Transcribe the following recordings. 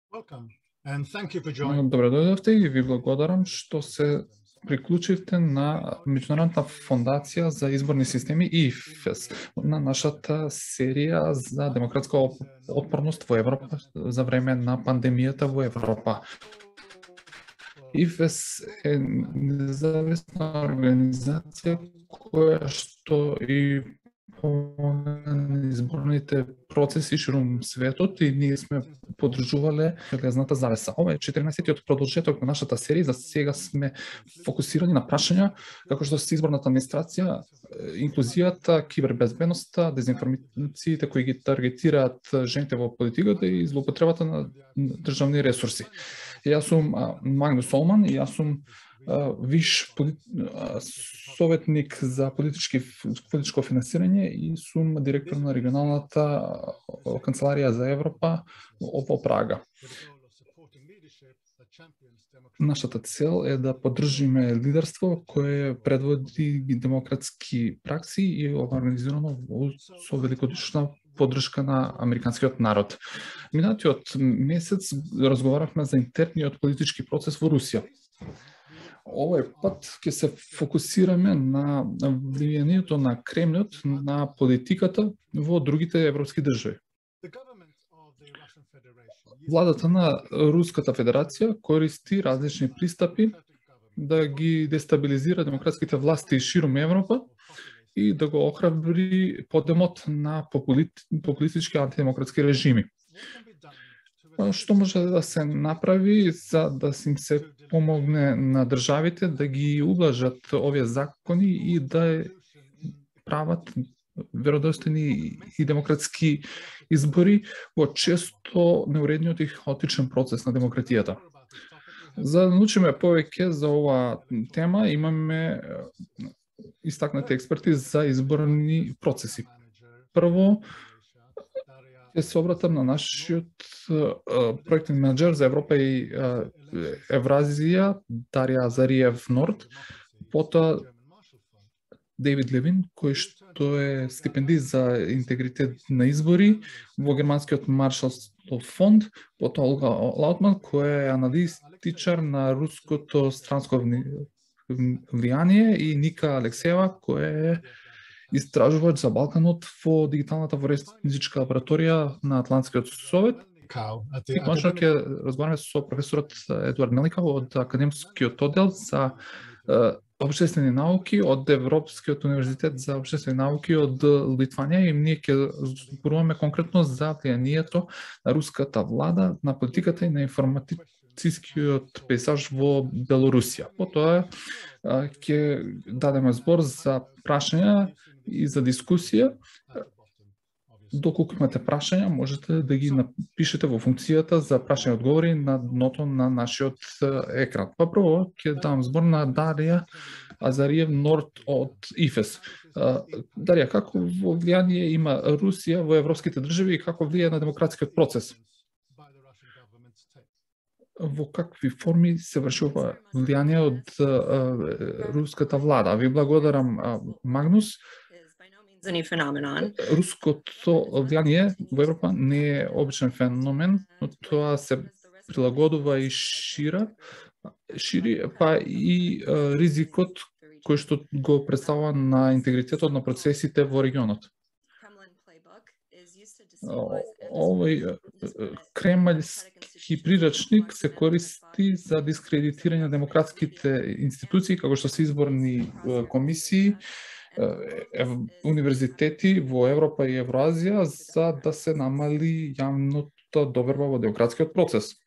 Добре дојдовте и ви благодарам што се приклучивте на Меѓународната фондација за изборни системи ИФЕС на нашата серија за демократска отпорност во Европа за време на пандемијата во Европа. ИФЕС е независна организација која што и помага изборните процеси ширум светот и ние сме поддржувале железната завеса. Ова е 14-тиот продолжеток на нашата серија. За сега сме фокусирани на прашања како што се изборната администрација, инклузијата, кибербезбедноста, дезинформациите кои ги таргетираат жените во политиката и злоупотребата на државни ресурси. Јас сум Магнус Олман и јас сум виш советник за политичко финансирање и сум директор на регионалната канцеларија за Европа во Прага. Нашата цел е да поддржиме лидерство кое предводи демократски пракси и организирано со великодушна поддршка на американскиот народ. Минатиот месец разговаравме за интерниот политички процес во Русија. Овој пат ќе се фокусираме на влијанието на Кремљот на политиката во другите европски држави. Владата на Руската Федерација користи различни пристапи да ги дестабилизира демократските власти ширум Европа и да го охрабри подемот на популистички антидемократски режими. Што може да се направи за да им се помогне на државите да ги ублажат овие закони и да прават веродостојни и демократски избори во често неуредниот и хаотичен процес на демократијата. За да научиме повеќе за оваа тема, имаме истакнати експерти за изборни процеси. Прво, ќе се обратам на нашиот проектен менеджер за Европа и Евразија, Дарија Азариев Норд, потоа Дейвид Левин, кој што е стипендист за интегритет на избори во германскиот Маршалов фонд, потоа Олга Лаутман, кој е аналитичар на руското странско влијание и Ника Алексеева, кој е истражувач за Балканот во дигиталната форензичка лабораторија на Атлантскиот совет. И конечно ќе разговараме со професорот Едуард Меликов од академскиот оддел за општествени науки од Европскиот универзитет за општествени науки од Литванија и ние ќе зборуваме конкретно за влијанието на руската влада на политиката и на информатискиот пейзаж во Белорусија. Потоа ќе дадеме збор за прашања и за дискусија. Доколку имате прашања, можете да ги напишете во функцијата за прашања и одговори на дното на нашиот екран. Па прво ќе дам збор на Дарија Азариев Норд од ИФЕС. Дарија, како влијание има Русија во европските држави и како влијае на демократскиот процес? Во какви форми се врши ова влијание од руската влада? Ви благодарам, Магнус. Руското влијание во Европа не е обичен феномен, но тоа се прилагодува и шири, па и ризикот кој што го представува на интегритетот на процесите во регионот. Овој кремљски прирачник се користи за дискредитирање на демократските институции, како што се изборни комисии, универзитети во Европа и Евразија, за да се намали јавната доверба во демократскиот процес.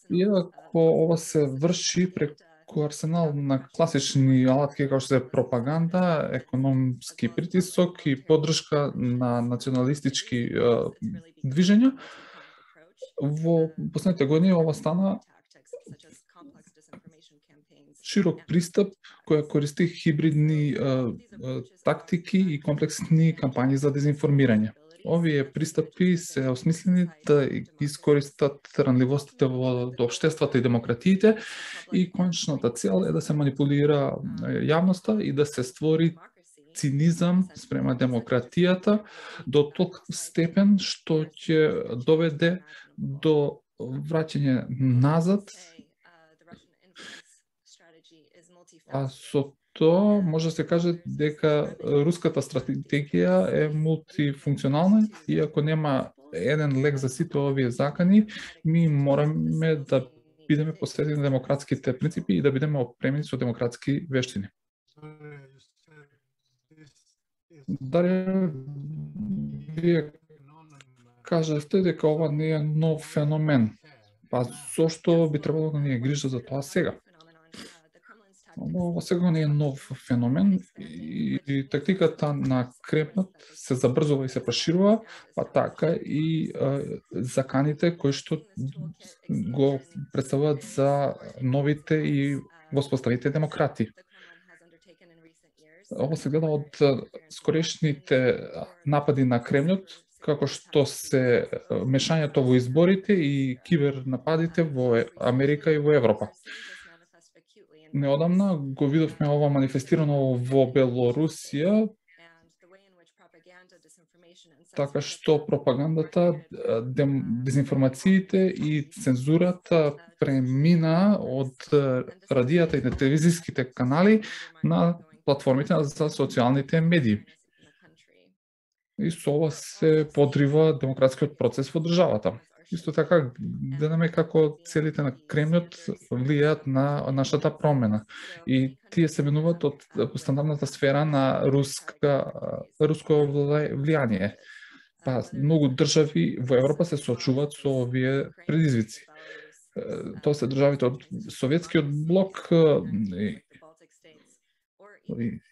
Иако ова се врши преку арсенал на класични алатки како што е пропаганда, економски притисок и поддршка на националистички движења, во последните години ова стана широк пристап која користи хибридни тактики и комплексни кампањи за дезинформирање. Овие пристапи се осмислени да искористат ранливостите во општествата и демократиите и конечната цел е да се манипулира јавноста и да се створи цинизам спрема демократијата до толков степен што ќе доведе до враќање назад. А со тоа може да се каже дека руската стратегија е мултифункционална и ако нема еден лек за сите овие закани, ми мораме да бидеме посветени на демократските принципи и да бидеме опремени со демократски вештини. Дали вие кажавте дека ова не е нов феномен? Па зошто би требало да ни е грижа за тоа сега? Ова сега не е нов феномен и тактиката на Кремљот се забрзува и се проширува, па така и заканите кои што го представуваат за новите и воспоставите демократи. Ова се гледа од скорешните напади на Кремљот, како што се мешањето во изборите и кибернападите во Америка и во Европа. Неодамна го видовме ова манифестирано во Белорусија, така што пропагандата, дезинформациите и цензурата премина од радијата и на телевизиските канали на платформите за социјалните медии. И со ова се подрива демократскиот процес во државата. Исто така гледаме како целите на Кремљот влијаат на нашата промена и тие се менуваат од стандардната сфера на руско влијание. Па многу држави во Европа се соочуваат со овие предизвици. Тоа се државите од Советскиот блок,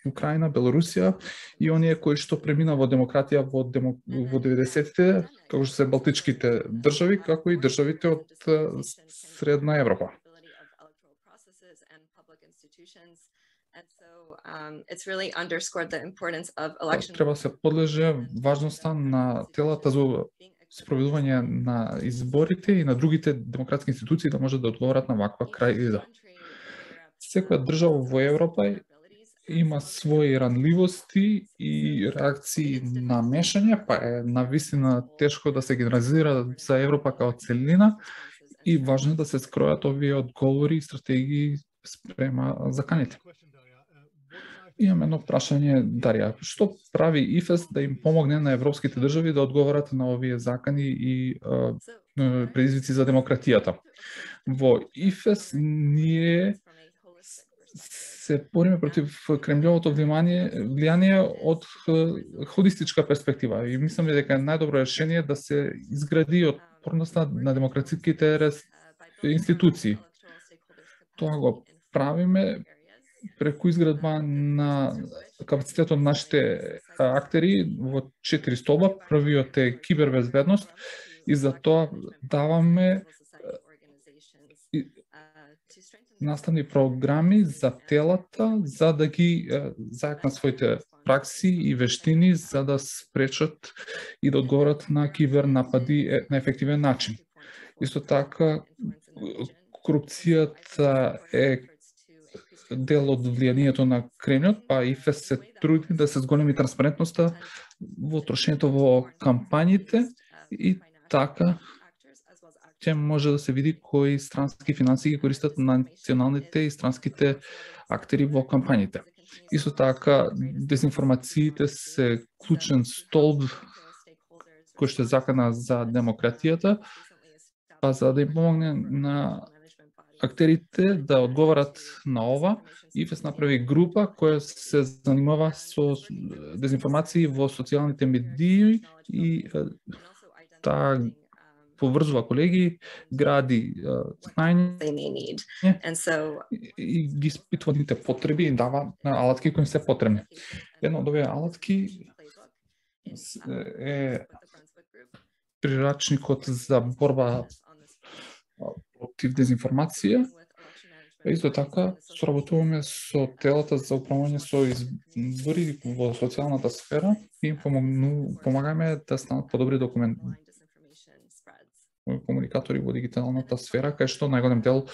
Украина, Белорусија и оние кои што премина во демократија во 90-тите, како што се балтичките држави, како и државите од Средна Европа. Треба се подлежи важноста на телата за спроведување на изборите и на другите демократски институции да може да одговорат на ваква крајда. Секоја држава во Европа има своји ранливости и реакции на мешање, па е навистина тешко да се генерализира за Европа како целина и важно е да се скројат овие одговори и стратегии спрема заканите. Имам едно прашање, Дарија. Што прави ИФЕС да им помогне на европските држави да одговорат на овие закани и предизвици за демократијата? Во ИФЕС ние се бориме против Кремљовото влијание од холистичка перспектива и мислам дека е најдобро решение да се изгради отпорноста на демократските институции. Тоа го правиме преку изградба на капацитетот на нашите актери во 4 столба. Првиот е кибербезбедност и за тоа даваме наставни програми за телата, за да ги зајакнат своите пракси и вештини, за да спречат и да одговорат на кибернапади на ефективен начин. Исто така, корупцијата е дел од влијанието на Кремљот, па ИФЕС се труди да се зголеми транспарентноста во трошењето во кампањите и така ќе може да се види кои странски финанси ги користат националните и странските актери во кампањите. Исто така, дезинформациите се клучен столб кој што е закана за демократијата, па за да им помогне на актерите да одговарат на ова, ИФЕС направи група која се занимава со дезинформации во социјалните медии и таа поврзува колеги, гради знаење и ги испитува нивните потреби и дава алатки кои им се потребни. Една од овие алатки е прирачникот за борба против дезинформација. Исто така, соработуваме со телата за управување со избори во социјалната сфера и им помагаме да станат подобри комуникатори во дигиталната сфера, кај што најголем дел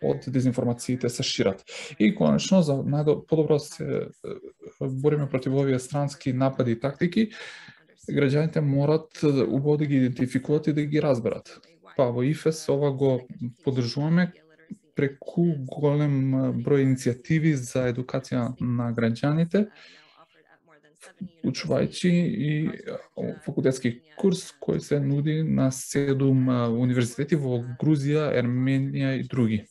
од дезинформациите се шират. И конечно, за подобро се бориме против овие странски напади и тактики, граѓаните морат убаво да ги идентификуваат и да ги разберат. Па во ИФЕС ова го поддржуваме преку голем број иницијативи за едукација на граѓаните, вклучувајќи и факултетски курс кој се нуди на 7 универзитети во Грузија, Ерменија и други.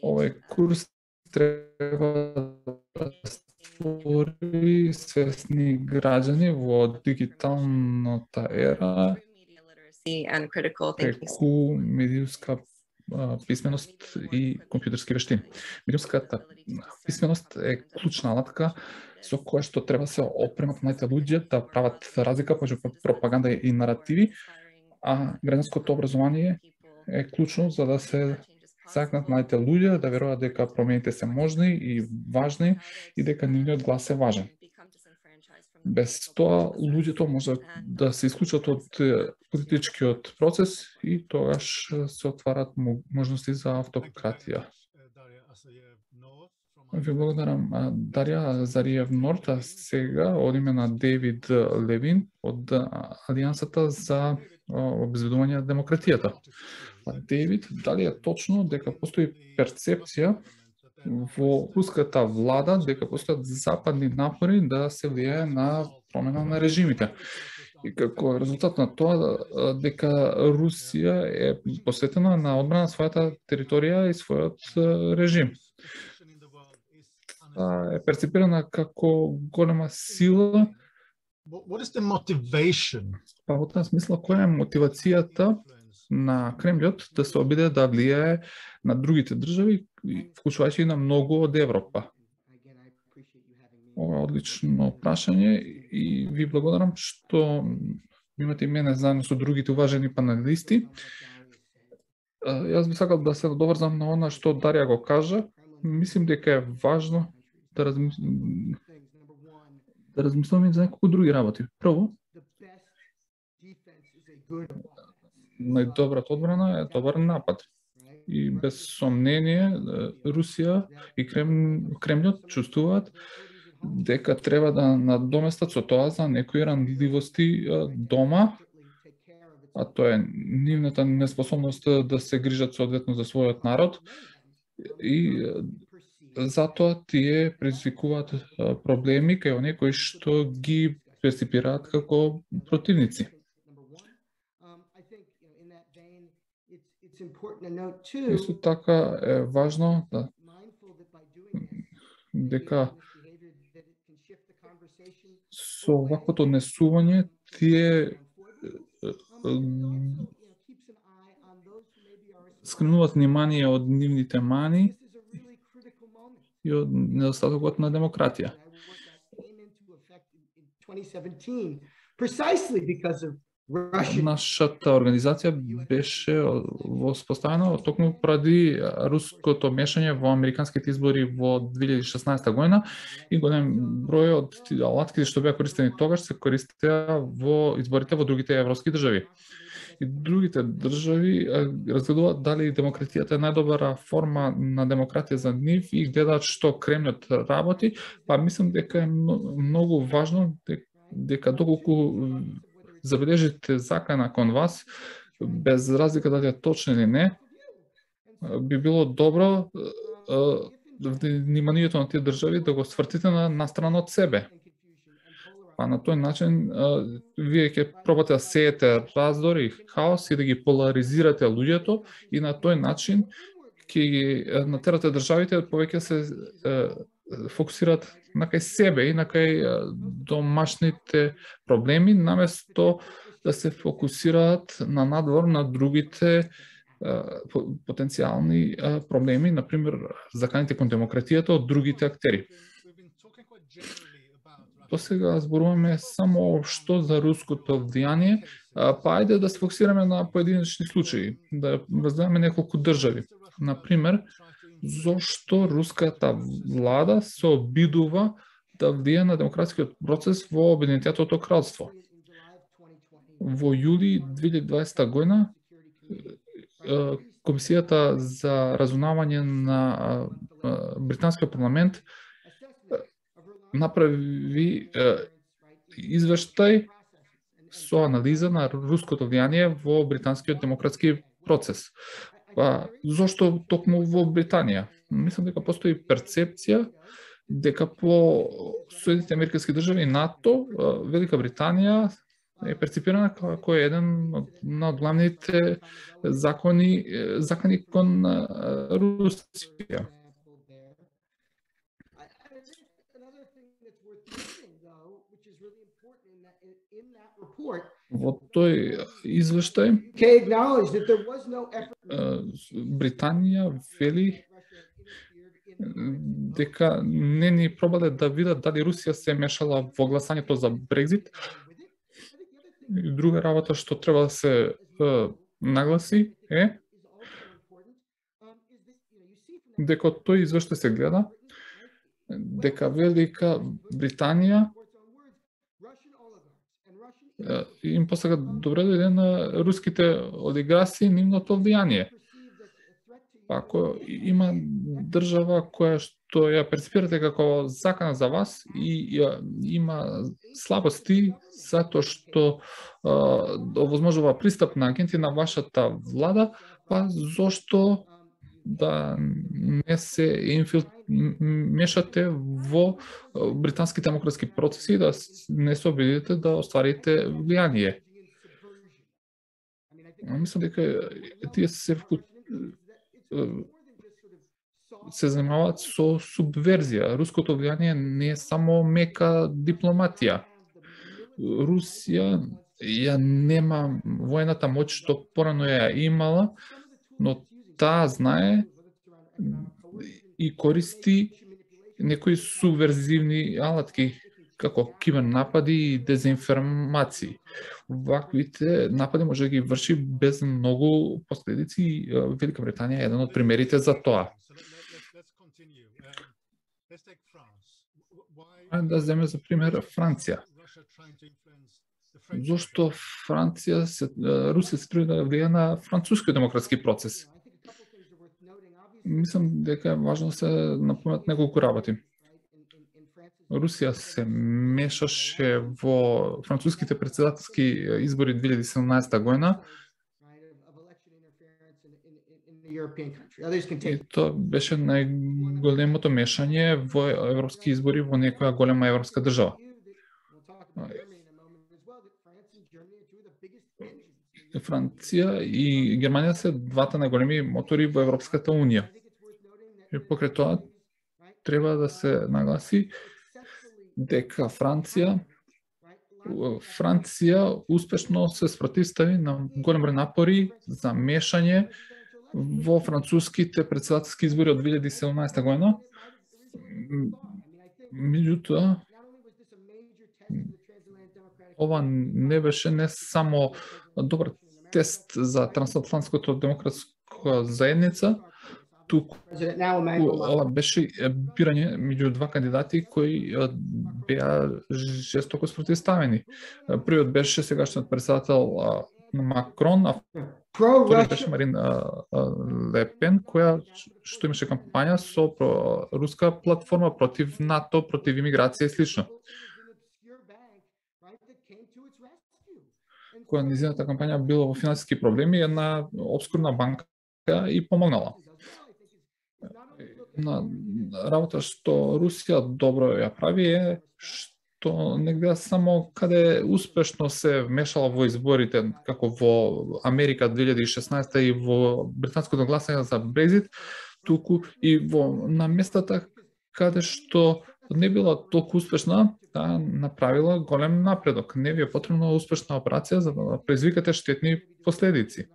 Овој курс треба да створи свесни граѓани во дигиталната ера преку медиумска писменост и компјутерски вештини. Медиумската писменост е клучна алатка со која што треба се опремат младите луѓе да прават разлика помеѓу пропаганда и наративи, а граѓанското образование е клучно за да се сакнат младите луѓе да веруваат дека промените се можни и важни и дека нивниот глас е важен. Без тоа, луѓето може да се исклучат од политичкиот процес и тогаш се отварат можности за автократија. Ви благодарам, Дарија Зариев Норт, а сега одиме на Дейвид Левин од Алијансата за обезбедување на демократијата. Дейвид, дали е точно дека постои перцепција во руската влада дека постојат западни напори да се влијае на промена на режимите? И како резултат на тоа дека Русија е посветена на одбрана на својата територија и својот режим. Е перципирана како голема сила. Па во таа смисла, која е мотивацијата на Кремљот да се обиде да влијае на другите држави, вклучувајќи и на многу од Европа? Ова е одлично прашање и ви благодарам што имате и мене заедно со другите уважени панелисти. Јас би сакал да се надоврзам на она што Дарија го кажа. Мислим дека е важно да размислуваме за неколку други работи. Прво, најдобрата одбрана е добар напад. И без сомнение, Русија и Кремљот чувствуваат дека треба да надоместат со тоа за некои ранливости дома, а тоа е нивната неспособност да се грижат соодветно за својот народ и затоа тие предизвикуваат проблеми кај оние кои што ги перципираат како противници. Исто така е важно дека со ваквото однесување тие скренуваат внимание од нивните мани и од недостатокот на демократија. Нашата организација беше воспоставена токму поради руското мешање во американските избори во 2016 година и голем број од алатките што беа користени тогаш се користеа во изборите во другите европски држави. И другите држави разгледуваат дали демократијата е најдобра форма на демократија за нив и гледаат што Кремљот работи, па мислам дека е многу важно дека доколку забележите закана кон вас, без разлика дали е точно или не, би било добро вниманието на тие држави да го свртите на настрана од себе. Па на тој начин вие ќе пробате да сеете раздор и хаос и да ги поларизирате луѓето и на тој начин ќе ги натерате државите повеќе се фокусираат на кај себе и на кај домашните проблеми, наместо да се фокусираат на надвор на другите потенцијални проблеми, например, заканите кон демократијата од другите актери. До сега зборуваме само општо за руското влијание, па ајде да се фокусираме на поединечни случаи, да разгледаме неколку држави. Например, зошто руската влада се обидува да влијае на демократскиот процес во Обединетото кралство. Во јули 2020 година Комисијата за разузнавање на британскиот парламент направи извештај со анализа на руското влијание во британскиот демократски процес. Зошто токму во Британија? Мислам дека постои перцепција дека по Соединетите Американски држави и НАТО, Велика Британија е перципирана како еден од главните закони кон Русија. Во тој извештај Британија вели дека не ни пробале да видат дали Русија се мешала во гласањето за Брекзит. Друга работа што треба да се нагласи е дека тој извештај се гледа дека Велика Британија им посака добре дојде на руските олигаси нивното влијание. Ако има држава која што ја перципирате како закана за вас и има слабости затоа што овозможува пристап на агенти на вашата влада, зошто да не се мешате во британски демократски процеси, да не се обидите да остварите влијание. Мислам дека тие се занимаваат со субверзија. Руското влијание не е само мека дипломатија. Русија ја нема воената моќ што порано ја имала, но таа знае и користи некои субверзивни алатки, како кибернапади и дезинформации. Ваквите напади може да ги врши без многу последици и Велика Британија е еден од примерите за тоа. Да земе за пример Франција. Зошто Русија се труди да влијае на францускиот демократски процес? Мислам дека е важно да се напомнат неколку работи. Русија се мешаше во француските претседателски избори 2017 година. И тоа беше најголемото мешање во европски избори во некоја голема европска држава. Франција и Германија се двата најголеми мотори во Европската Унија. И покрај тоа треба да се нагласи дека Франција успешно се спротивстави на голем број напори за мешање во француските претседателски избори од 2017 година. Меѓутоа, ова не беше не само добар тест за трансатлантското демократска заедница, туку ова беше бирање меѓу два кандидати кои беа жестоко спротивставени. Првиот беше сегашниот претседател Макрон, а вториот беше Марин Ле Пен, која што имаше кампања со руска платформа против НАТО, против имиграција и слично. Која низината кампања била во финансиски проблеми, една обскурна банка и помогнала. На работа што Русија добро ја прави е што не гледа само каде успешно се вмешала во изборите, како во Америка 2016 и во британското гласање за Брекзит, туку и на местата каде што не била толку успешна, да направила голем напредок. Не ви е потребна успешна операција за да предизвикате штетни последици.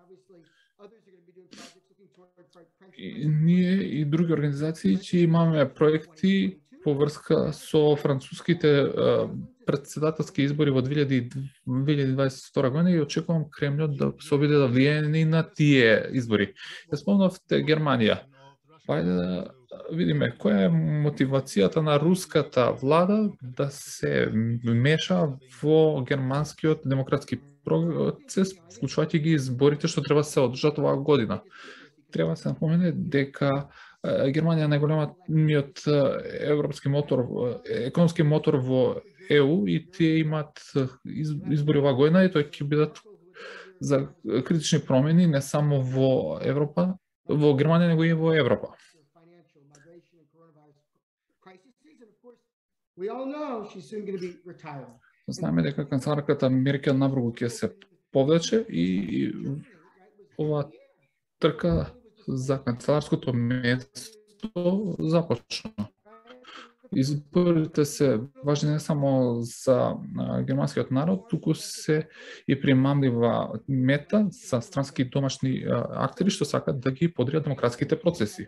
И ние и други организации че имаме проекти по врска со француските председателски избори во 2022 година и очекувам Кремљот да се обиде да влијае на тие избори. Ја спомнавте Германија. Ајде да видиме која е мотивацијата на руската влада да се меша во германскиот демократски процес, вклучувајќи ги изборите што треба да се одржат оваа година. Треба да се напомене дека Германија е најголемиот европски мотор, економски мотор во ЕУ и тие имаат избори оваа година и тој ќе бидат за критични промени не само во Европа, во Германија, него и во Европа. Знаеме дека канцеларката Меркел набрзо ќе се повлече и ова трка за канцеларското место започна. Изборите се важни не само за германскиот народ, туку се и примамлива мета за странски домашни актери што сакат да ги подријат демократските процеси.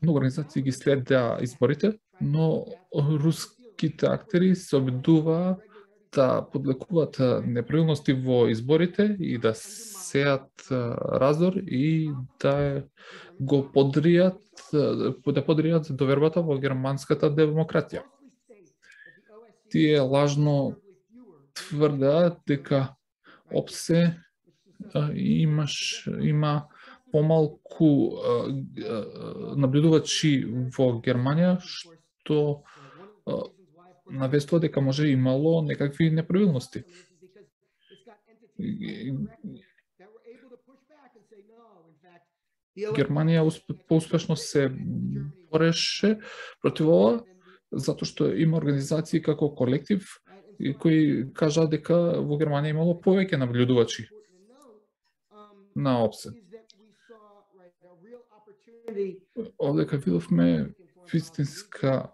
Многу организации ги следеа изборите, но руските актери се обидуваа да подлекуваат неправилности во изборите и да сеат раздор и да го подријат довербата во германската демократија. Тие лажно тврдеа дека ОПСЕ има помалку наблюдувачи во Германија, што навестува дека може имало некакви неправилности. Германија поуспешно се бореше против ова, затоа што има организации како колектив кои кажа дека во Германија имало повеќе наблюдувачи на ОПСЕ. Овдека видовме вистинска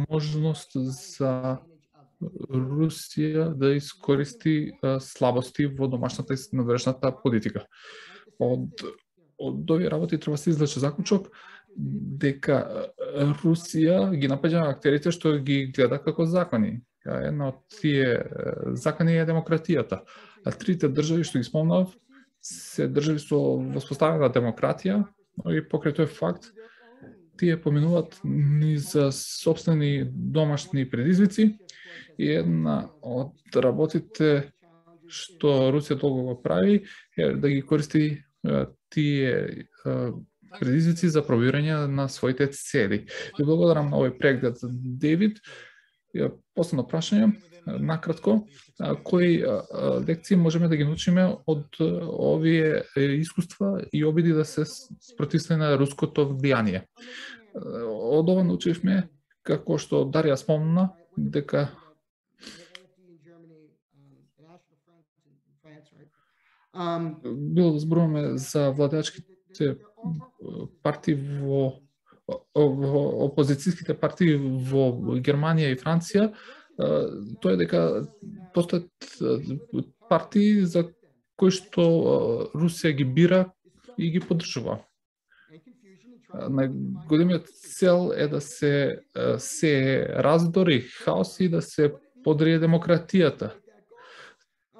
можност за Русија да искористи слабости во домашната и надворешната политика. Од овие работи треба да се извлече заклучок дека Русија ги напаѓа актерите што ги гледа како закони. Една од тие закони е демократијата. А трите држави што ги спомнав се држави со воспоставена демократија, и покрај тој факт тие поминуваат низ сопствени домашни предизвици и една од работите што Русија долго го прави е да ги користи тие предизвици за пробирање на своите цели. Ви благодарам на овој преглед, Девид. Последно прашање, накратко, кои лекции можеме да ги научиме од овие искуства и обиди да се спротивстави на руското влијание? Од ова научивме, како што Дарија спомна, дека било да зборуваме за владеачките партии во опозицијските партии во Германија и Франција, тоа е дека постојат партии за кои што Русија ги бира и ги поддржува. Најголемиот цел е да се раздори хаос и да се подрие демократијата.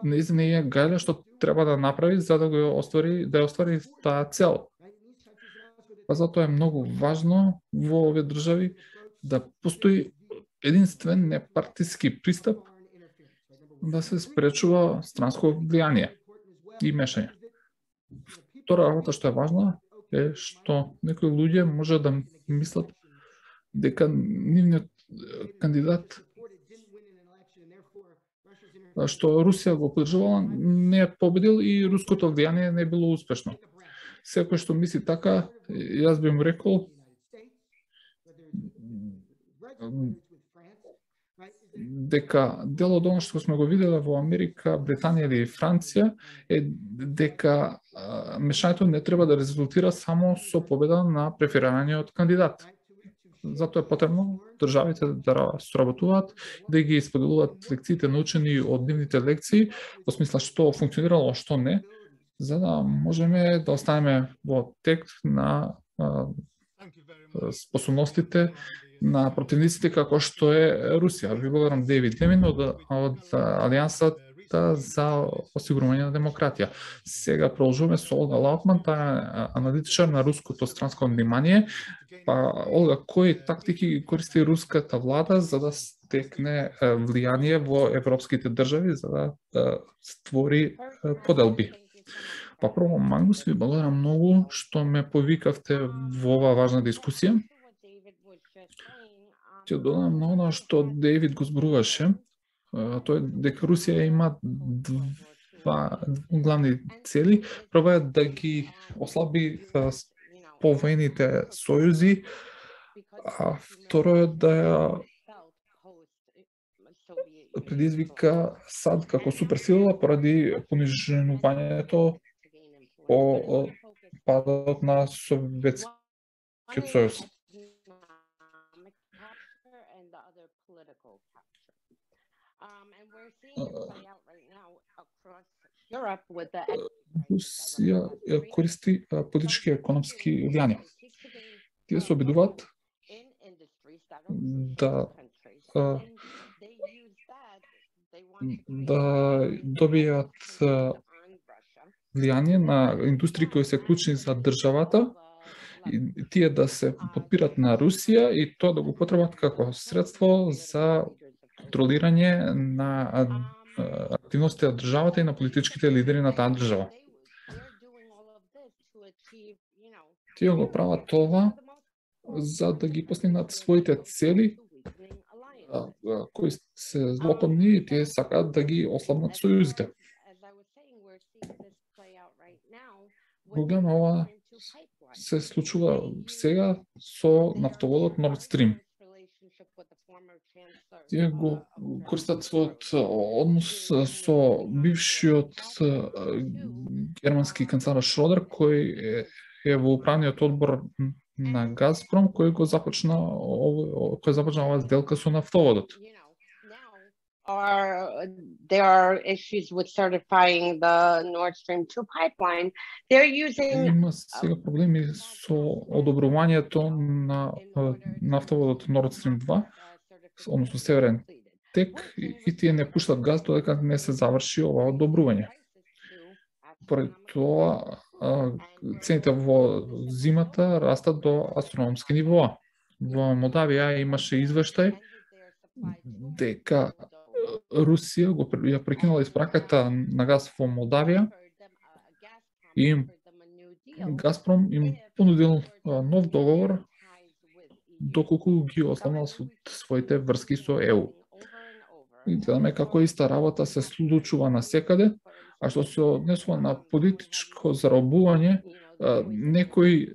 Нејзина е гајле што треба да направи за да ја оствари таа цел. Па затоа е многу важно во овие држави да постои единствен непартиски пристап да се спречува странско влијание и мешање. Втора работа што е важна е што некои луѓе може да мислат дека нивниот кандидат што Русија го поддржувала не е победил и руското влијание не е било успешно. Секој што мисли така, јас би му рекол дека дел од она што сме го виделе во Америка, Британија или Франција е дека мешањето не треба да резултира само со победа на преферираниот кандидат. Затоа е потребно државите да соработуваат, да ги споделуваат лекциите научени од нивните лекции, во смисла што функционирало, што не, за да можеме да останеме во тек на способностите на противниците како што е Русија. Ви благодарам Дейвид Лемин од Алијансата за осигурување на демократија. Сега продолжуваме со Олга Лаутман, таа е аналитичар на руското странско внимание. Па, Олга, кои тактики користи руската влада за да стекне влијание во европските држави за да створи поделби. Па прво, Магнус, ви благодарам многу што ме повикавте во оваа важна дискусија. Ќе додам на она што Дејвид го зборуваше, тој дека Русија има два главни цели. Прва е да ги ослаби повоените сојузи, а второ е да предизвика САД како суперсила поради понижувањето по падот на Советскиот сојуз. Русија користи политички и економски влијанија. Тие се обидуваат да добијат влијание на индустрии кои се клучни за државата, и тие да се подпират на Русија и тоа да го потребат како средство за контролирање на активностите на државата и на политичките лидери на таа држава. Тие го прават това за да ги постигнат своите цели, кои се злокобни, и тие сакаат да ги ослабнат сојузите. Го гледаме ова се случува сега со нафтоводот Nord Stream. Тие го користат својот однос со бившиот германски канцелар Шродер, кој е во управниот одбор на Газпром, кој започна оваа сделка со нафтоводот. There are issues with certifying the Nord Stream 2 pipeline. They're using Има сега проблеми со одобрувањето на нафтоводот Nord Stream 2, односно Северен тек, и тие не пуштат газ додека не се заврши ова одобрување. Поради тоа цените во зимата растат до астрономски нивоа. Во Молдавија имаше извештај дека Русија ја прекинала испраката на газ во Молдавија и Газпром им понудил нов договор доколку ги ослабнал своите врски со ЕУ. И гледаме како иста работа се случува насекаде, а што се однесува на политичко заробување, некои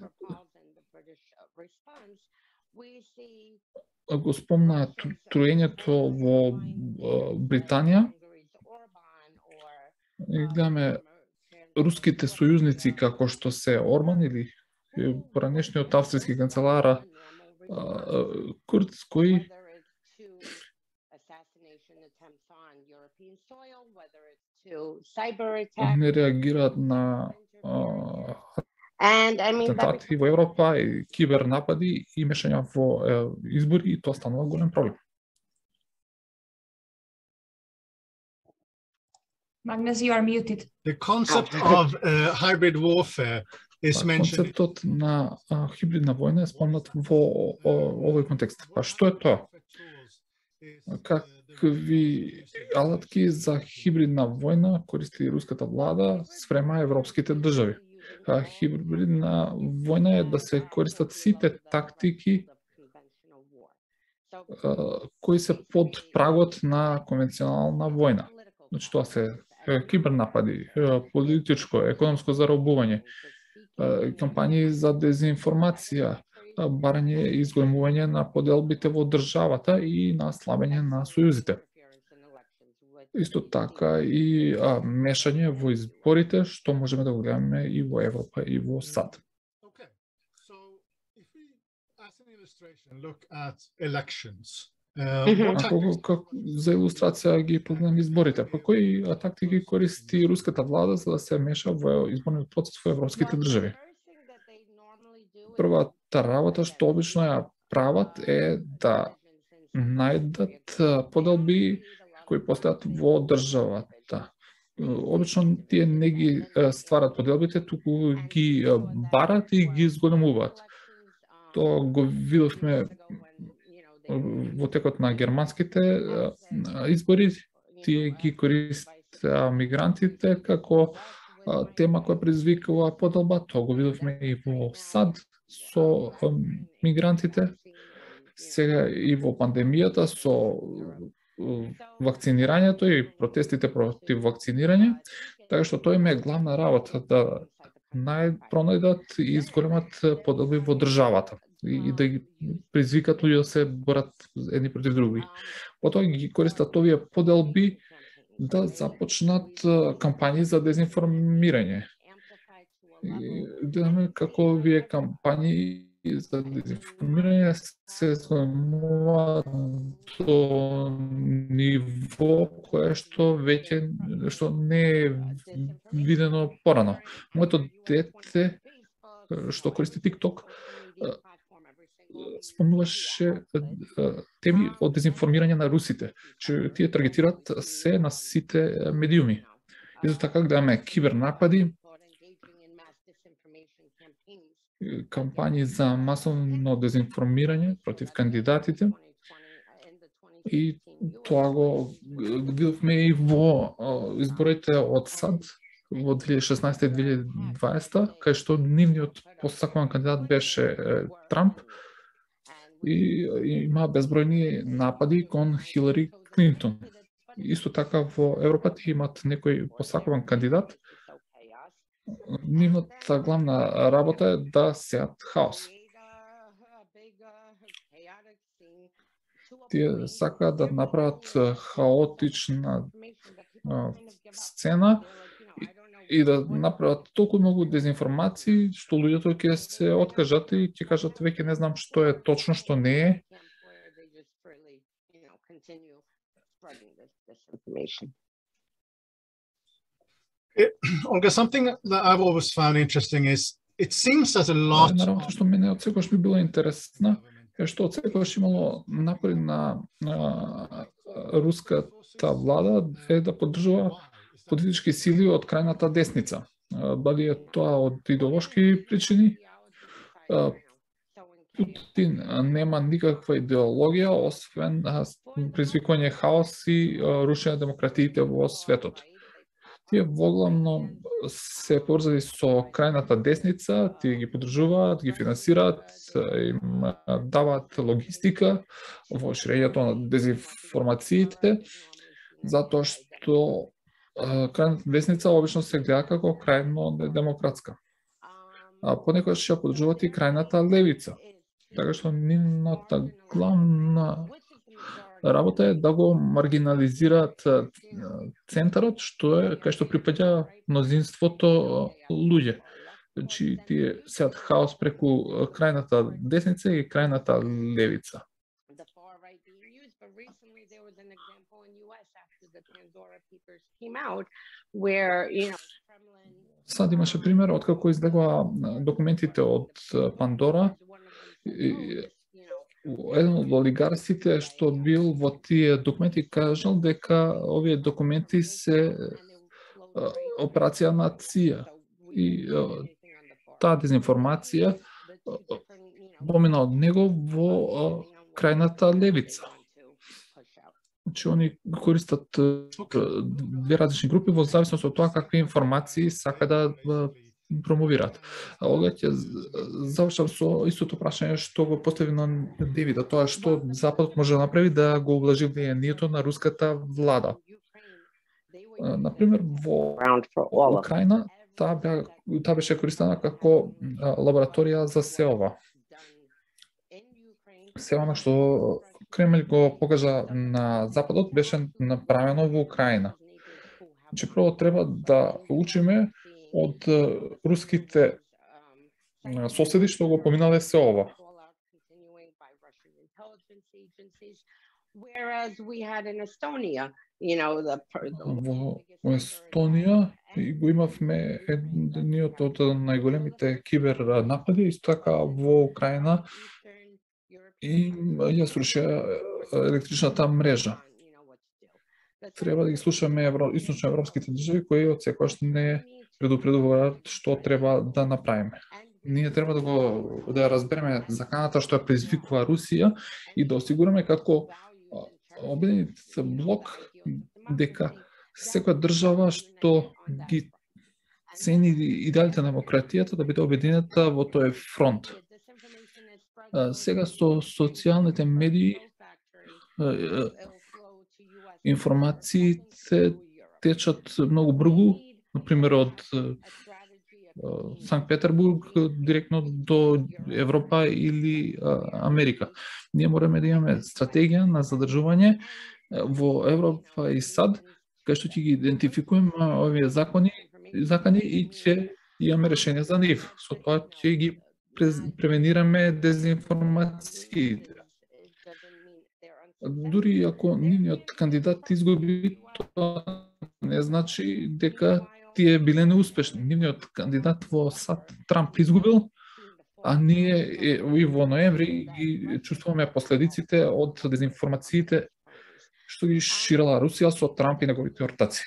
го спомна труењето во Британија. И гледаме руските сојузници како што се Орбан или поранешниот австријски канцелар Курц, кои не реагираат на атентати во Европа и кибернапади и мешања во избори, и тоа станува голем проблем. Magnus, you are muted. The concept of hybrid warfare is mentioned. Концептот на хибридна војна е спомнат во овој контекст. Па што е тоа? Какви алатки за хибридна војна користи руската влада спрема европските држави? Хибридна војна е да се користат сите тактики кои се под прагот на конвенционална војна. Значи тоа се кибернапади, политичко, економско заробување, кампањи за дезинформација, барање и изголемување на поделбите во државата и на слабење на сојузите. Исто така и мешање во изборите, што можеме да го гледаме и во Европа и во САД. За илустрација ги погледнем изборите, па кои тактики користи руската влада за да се меша во изборниот процес во европските држави? Првата работа што обично ја прават е да најдат поделби кои постојат во државата. Обично тие не ги стварат поделбите, туку ги барат и ги зголемуваат. Тоа го видовме во текот на германските избори, тие ги користеа мигрантите како тема која предизвикува поделба. Тоа го видовме и во САД со мигрантите, сега и во пандемијата со вакцинирањето и протестите против вакцинирање, така што тоа им е главна работа да пронајдат и изголемат поделби во државата и да ги предизвикат луѓе да се борат едни против други. Потоа ги користат овие поделби да започнат кампањи за дезинформирање. Гледаме како овие кампањи за дезинформирање се зголемуваат до ниво кое што веќе не е видено порано. Моето дете што користи TikTok спомнуваше теми од дезинформирање на русите, че тие таргетираат се на сите медиуми. Исто така гледаме кибернапади, кампањи за масовно дезинформирање против кандидатите, и тоа го видовме и во изборите од САД во 2016-2020, кај што нивниот посакуван кандидат беше Трамп, и има безбројни напади кон Хилари Клинтон. Исто така во Европа имат некој посакуван кандидат. Нивната главна работа е да сеат хаос. Тие сакаат да направат хаотична сцена и да направат толку многу дезинформации што луѓето ќе се откажат и ќе кажат веќе не знам што е точно, што не е. Olga, something that I've always found interesting is it seems that a lot. Наravno, што мене од секогаш ми било интересна е што од секогаш имало напори на руската влада е да поддржува политички сили од крајната десница. Дали е тоа од идеолошки причини? Путин нема никаква идеологија освен предизвикување хаос и рушење демократиите во светот. Тие воглавно се поврзани со крајната десница, тие ги поддржуваат, ги финансираат, им даваат логистика во ширењето на дезинформациите, затоа што крајната десница обично се гледа како крајно недемократска. Понекогаш ќе поддржуваат и крајната левица, така што нивната главна работа е да го маргинализираат центарот, што е кај што припаѓа мнозинството луѓе. Значи тие сеат хаос преку крајната десница и крајната левица. Сад имаше пример откако излегоа документите од Пандора. Еден од олигарсите што бил во тие документи кажал дека овие документи се операција на ЦИА и таа дезинформација помина од него во крајната левица. Че они користат две различни групи во зависност од тоа какви информации сака да промовираат. Олга, ќе завршам со истото прашање што го постави на Девида, тоа што Западот може да направи да го облажи влијанието на руската влада. Например, во Украина таа беше користена како лабораторија за СЕОВА. Сева што Кремљ го покажа на Западот беше направено во Украина. Значи, прво треба да учиме од руските соседи што го поминале се ова. Во Естонија го имавме едниот од најголемите кибер напади, исто така во Украина и ја срушија електричната мрежа. Треба да ги слушаме источноевропските држави кои од секогаш не предупредуваат што треба да направиме. ние треба да ја разбереме заканата што ја предизвикува Русија и да осигураме како Обединет блок дека секоја држава што ги цени идеалите на демократијата да биде обединета во тој фронт. Сега со социјалните медии информациите течат многу брзо, например од Санкт Петербург директно до Европа или Америка. Ние мораме да имаме стратегија на задржување во Европа и САД, кај што ќе ги идентификуваме овие закони и ќе имаме решение за нив. Со тоа ќе ги превенираме дезинформациите. Дури ако нивниот кандидат изгуби, тоа не значи дека тие биле неуспешни. Нивниот кандидат во САД Трамп изгубил, а ние и во ноември ги чувствуваме последиците од дезинформациите што ги ширала Русија со Трамп и неговите ортаци.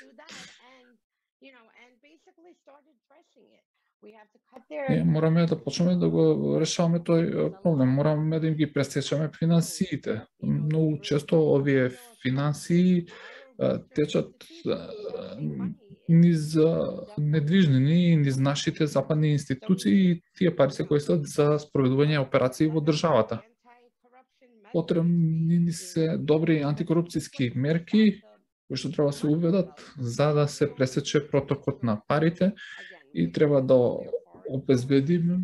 Ние мораме да почнеме да го решаваме тој проблем. Мораме да им ги пресечеме финансиите. Многу често овие финансии течат низ недвижнини, низ нашите западни институции и тие пари се користат за спроведување операции во државата. Потребни ни се добри антикорупцијски мерки кои што треба да се уведат за да се пресече протокот на парите и треба да обезбедиме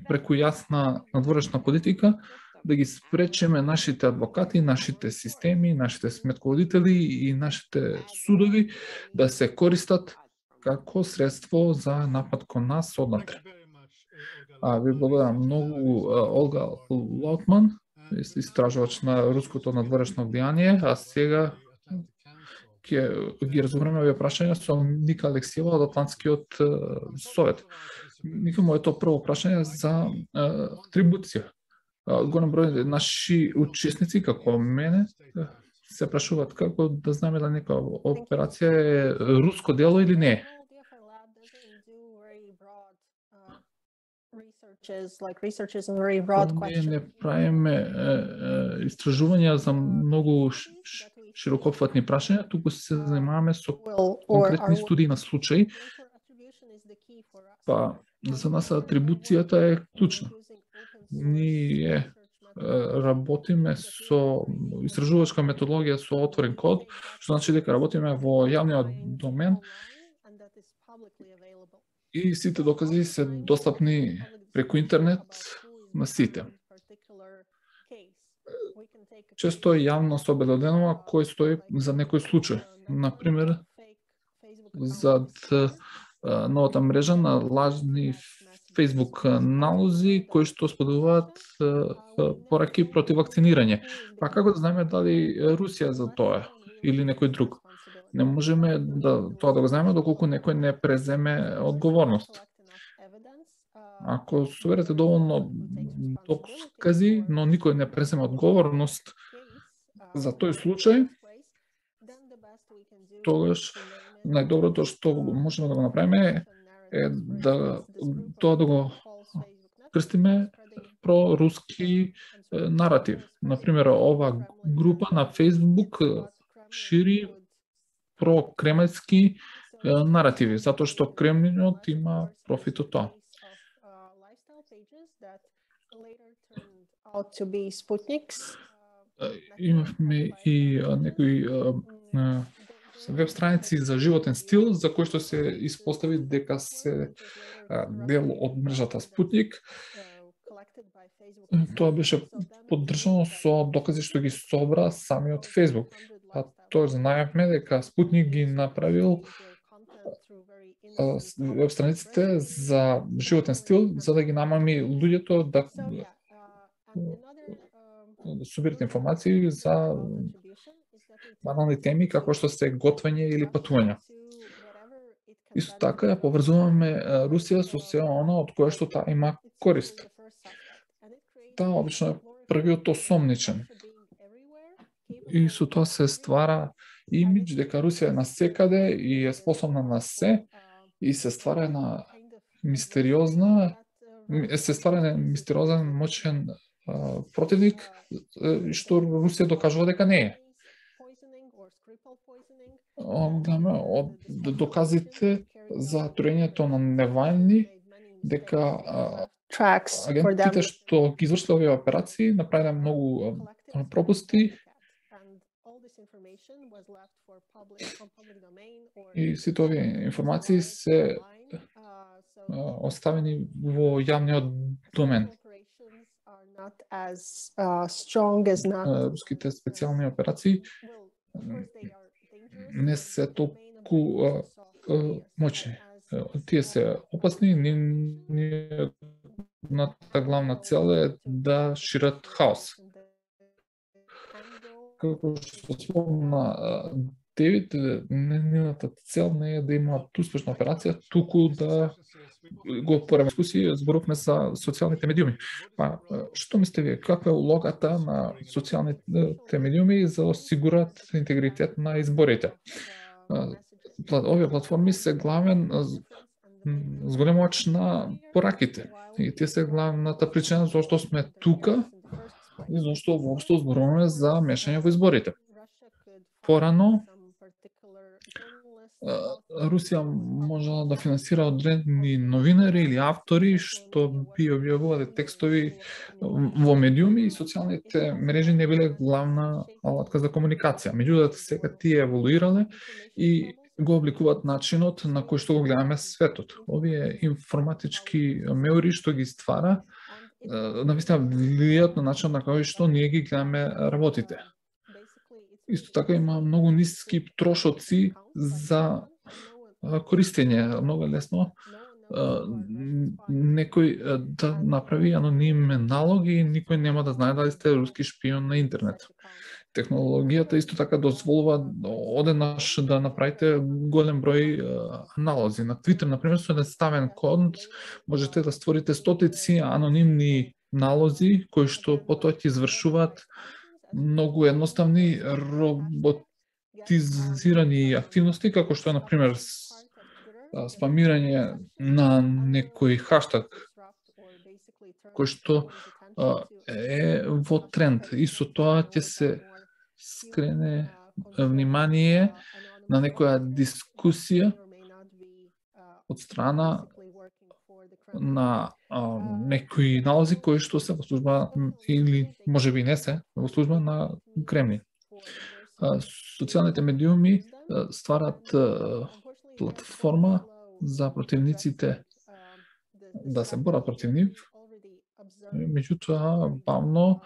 преку јасна надворешна политика да ги спречиме нашите адвокати, нашите системи, нашите сметководители и нашите судови да се користат како средство за напад кон нас однатре. Ви благодарам многу, Олга Лаутман, истражувач на руското надворешно влијание, а сега ќе ги разговараме овие прашања со Ника Алексиева од Атлантскиот совет. Ника, моето прво прашање за атрибуција. Голем број наши учесници, како мене, се прашуваат како да знаеме да нека операција е руско дело или не. Ние не правиме истражувања за многу широкофатни прашања, туку се занимаваме со конкретни студии на случаи. За нас атрибуцијата е клучна. Ние работиме со истражувачка методологија со отворен код, што значи дека работиме во јавниот домен и сите докази се достапни преку интернет на сите. Често јавно се обелоденува кој стои за некој случај. Например, зад новата мрежа на лажни Facebook налози кои што споделуваат пораки против вакцинирање. Како да знаеме дали Русија за тоа или некој друг? Не можеме тоа да го знаеме доколку некој не преземе одговорност. Ако соберете доволно докази, но никој не преземе одговорност за тој случај, тогаш најдоброто што можеме да го направиме е тоа да го крстиме проруски наратив. Например, ова група на Facebook шири прокремљски наративи, затоа што Кремљот има профит од тоа. Имавме и некои веб страници за животен стил, за кој што се испостави дека се дел од мрежата Спутник. Тоа беше поддржано со докази што ги собра самиот Facebook. Тоа знаевме дека Спутник ги направил веб страниците за животен стил, за да ги намами луѓето да соберат информации за банални теми како што се готвење или патување. Исто така ја поврзуваме Русија со се она од кое што таа има корист. Таа обично е првиот осомничен. И со тоа се ствара имидж дека Русија е насекаде и е способна на се и се ствара една мистериозна се ствара мистериозен, моćен противник, што Русија докажува дека не е. Гледаме од доказите за труењето на Навални, дека агентите што ги извршиле овие операции направиле многу пропусти и сите овие информации се оставени во јавниот домен. Руските специјални операции не се толку моćни. Тие се опасни, нивната главна цел е да шират хаос. Како што спомна Девид, нивната цел не е да имаат успешна операција, туку да го порема дискусија, зборуваме за социјалните медиуми. Па, што мислите вие, каква е улогата на социјалните медиуми за да осигурат интегритет на изборите? Овие платформи се главен зголемувач на пораките. И тие се главната причина зашто сме тука и зашто воопшто зборуваме за мешање во изборите. Порано Русија можела да финансира одредени новинари или автори што би објавувале текстови во медиуми и социјалните мрежи не биле главна алатка за комуникација. Меѓутоа сега тие еволуирале и го обликуваат начинот на кој што го гледаме светот. Овие информатички меури што ги ствара навистина влијаат на начинот на кој што ние ги гледаме работите. Исто така има многу ниски трошоци за користење. Многу лесно некој да направи анонимен налог и никој нема да знае дали сте руски шпион на интернет. Технологијата исто така дозволува одеднаш да направите голем број налози. На Twitter, например, со едноставен код можете да створите стотици анонимни налози кои што потоа ќе извршуваат многу едноставни роботизирани активности, како што е, например, спамирање на некој хаштаг, кој што е во тренд. И со тоа ќе се скрене внимание на некоја дискусија од страна на некои налози кои што се во служба или можеби не се во служба на Кремљ. Социјалните медиуми стварат платформа за противниците да се борат против нив, меѓутоа бавно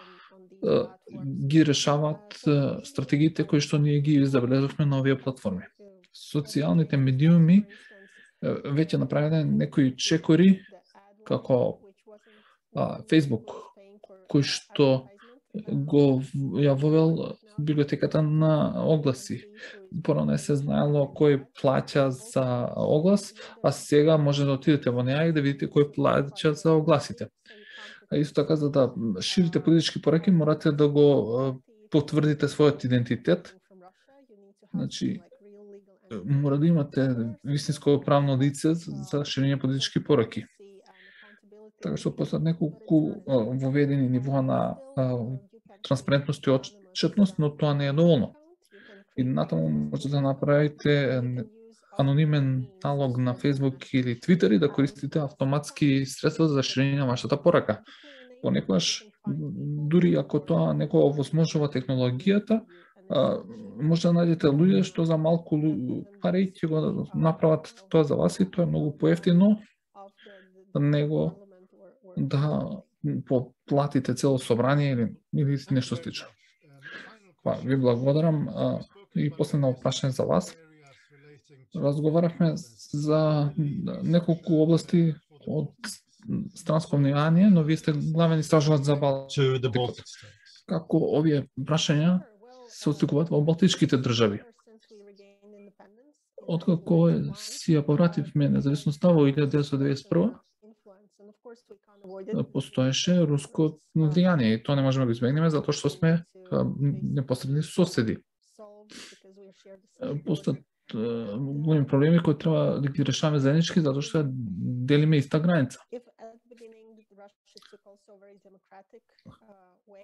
ги решават стратегиите кои што ние ги забележавме на овие платформи. Социјалните медиуми веќе направиле некои чекори како Facebook, кој што го ја вовел библиотеката на огласи. Порано не се знаело кој плаќа за оглас, а сега може да отидете во неа и да видите кој плаќа за огласите. А исто така, за да ширите политички пораки, морате да го потврдите својот идентитет. Значи, мора да имате вистинско правно лице за ширење политички пораки. Така што после неколку воведени нивоа на транспарентност и отчетност, но тоа не е доволно. И натаму можете да направите анонимен налог на Facebook или Twitter и да користите автоматски средства за ширење на вашата порака. Понекогаш, дури ако тоа некоја овозможува технологијата, може да најдете луѓе што за малку пари ќе го направат тоа за вас и тоа е многу поевтино него да поплатите цело собрание или нешто слично. Па, ви благодарам и последно прашање за вас. Разговаравме за неколку области од странско влијание, но вие сте главен истражувач за Балтикот. Како овие прашања се оцикуваат во балтичките држави? Откако си ја повративме независноста во 1991, постоеше руско влијание и тоа не можеме да го избегнеме затоа што сме непосредни соседи. Постојат големи проблеми кои треба да ги решаваме заеднички затоа што делиме иста граница.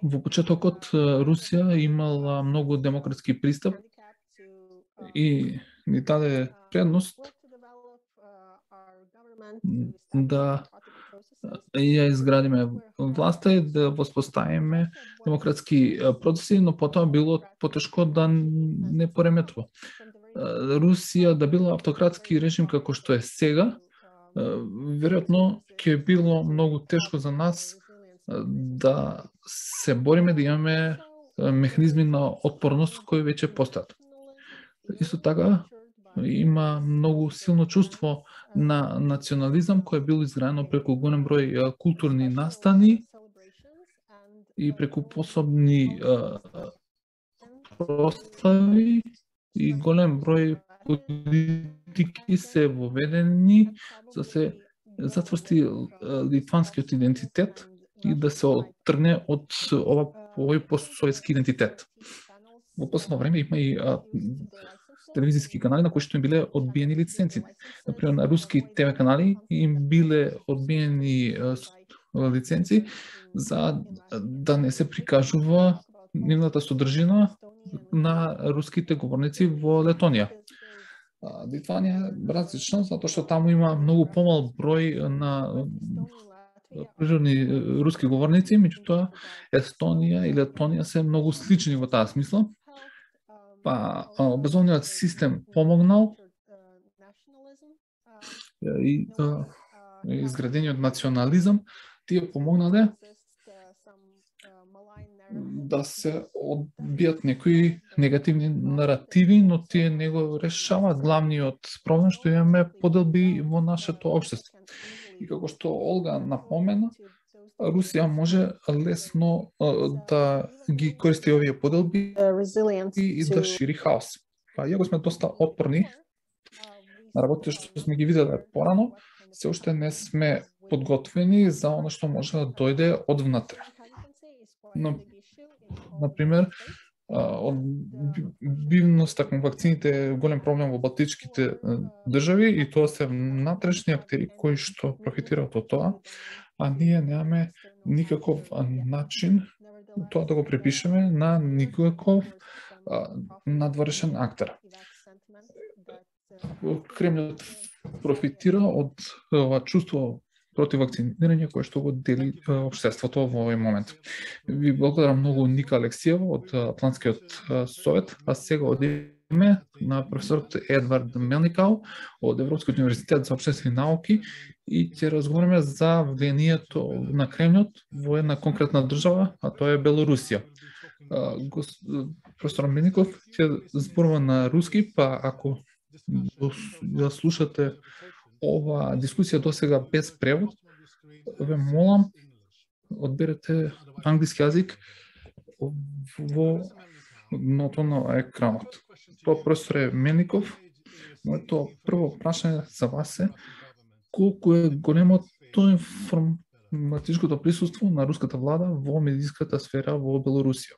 Во почетокот Русија имала многу демократски пристап и ни даде предност да ја изградиме власта и да воспоставиме демократски процеси, но потоа било потешко да не пореметува. Русија да била автократски режим како што е сега, веројатно ќе било многу тешко за нас да се бориме, да имаме механизми на отпорност кои веќе постојат. Исто така, има многу силно чувство на национализам кој е било изградено преку голем број културни настани и преку посебни прослави и голем број политики се воведени за се затврсти литванскиот идентитет и да се оттргне од овој постсоветски идентитет. Во последно време има и телевизиски канали на кои што им биле одбиени лиценци. Например, на руски ТВ канали им биле одбиени лиценци за да не се прикажува нивната содржина на руските говорници во Летонија. Литванија е различна затоа што таму има многу помал број на природни руски говорници, меѓутоа Естонија и Летонија се многу слични во таа смисла. Па образовниот систем помогнал и изградениот национализам, тие помогнале да се одбијат некои негативни наративи, но тие не го решаваат главниот проблем што имаме поделби во нашето општество. И како што Олга напомена, Русија може лесно да ги користи овие поделби и да шири хаос. Па иако сме доста отпорни на работите што сме ги виделе порано, се уште не сме подготвени за она што може да дојде од внатре. Например, одбивноста кон вакцините е голем проблем во балтичките држави и тоа се внатрешни актери кои што профитираат од тоа, а ние немаме никаков начин тоа да го препишеме на никаков надворешен актер. Кремљот профитира од ова чувство против вакцинирање кое што го дели општеството во овој момент. Ви благодарам многу Ника Алексиева од Атлантскиот совет, а сега одиме на професорот Едвард Мелникау од Европскиот универзитет за општествени науки и ќе разговараме за влијанието на Кремљот во една конкретна држава, а тоа е Белорусија. Професор Мелников ќе зборува на руски, па ако ја слушате ова дискусија досега без превод, ве молам, одберете англиски јазик во дното на екранот. Професоре Мелников, моето прво прашање за вас е колку е големото информатичкото присуство на руската влада во медијската сфера во Белорусија?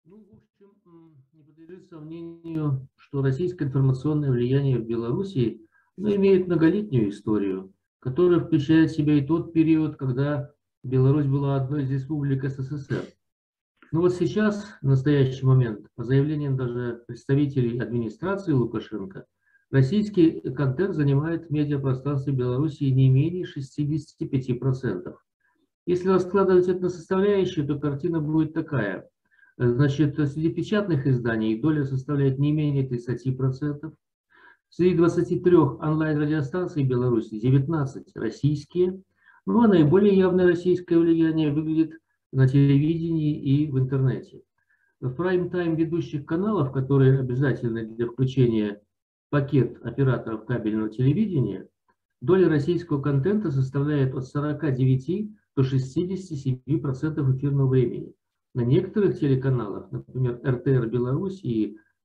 Не подлежит сомнению, что российское информационное влияние в Беларуси имеет многолетнюю историю, которая включает в себя и тот период, когда Беларусь была одной из республик СССР. Но вот сейчас, в настоящий момент, по заявлениям даже представителей администрации Лукашенко, российский контент занимает в медиапространстве Беларуси не менее 65%. Если раскладывать это на составляющие, то картина будет такая. Значит, среди печатных изданий доля составляет не менее 30%. Среди 23 онлайн-радиостанций Беларуси 19 российские. Ну а наиболее явное российское влияние выглядит на телевидении и в интернете. В прайм-тайм ведущих каналов, которые обязательны для включения в пакет операторов кабельного телевидения, доля российского контента составляет от 49 до 67% эфирного времени. На некоторых телеканалах, например, РТР Беларусь,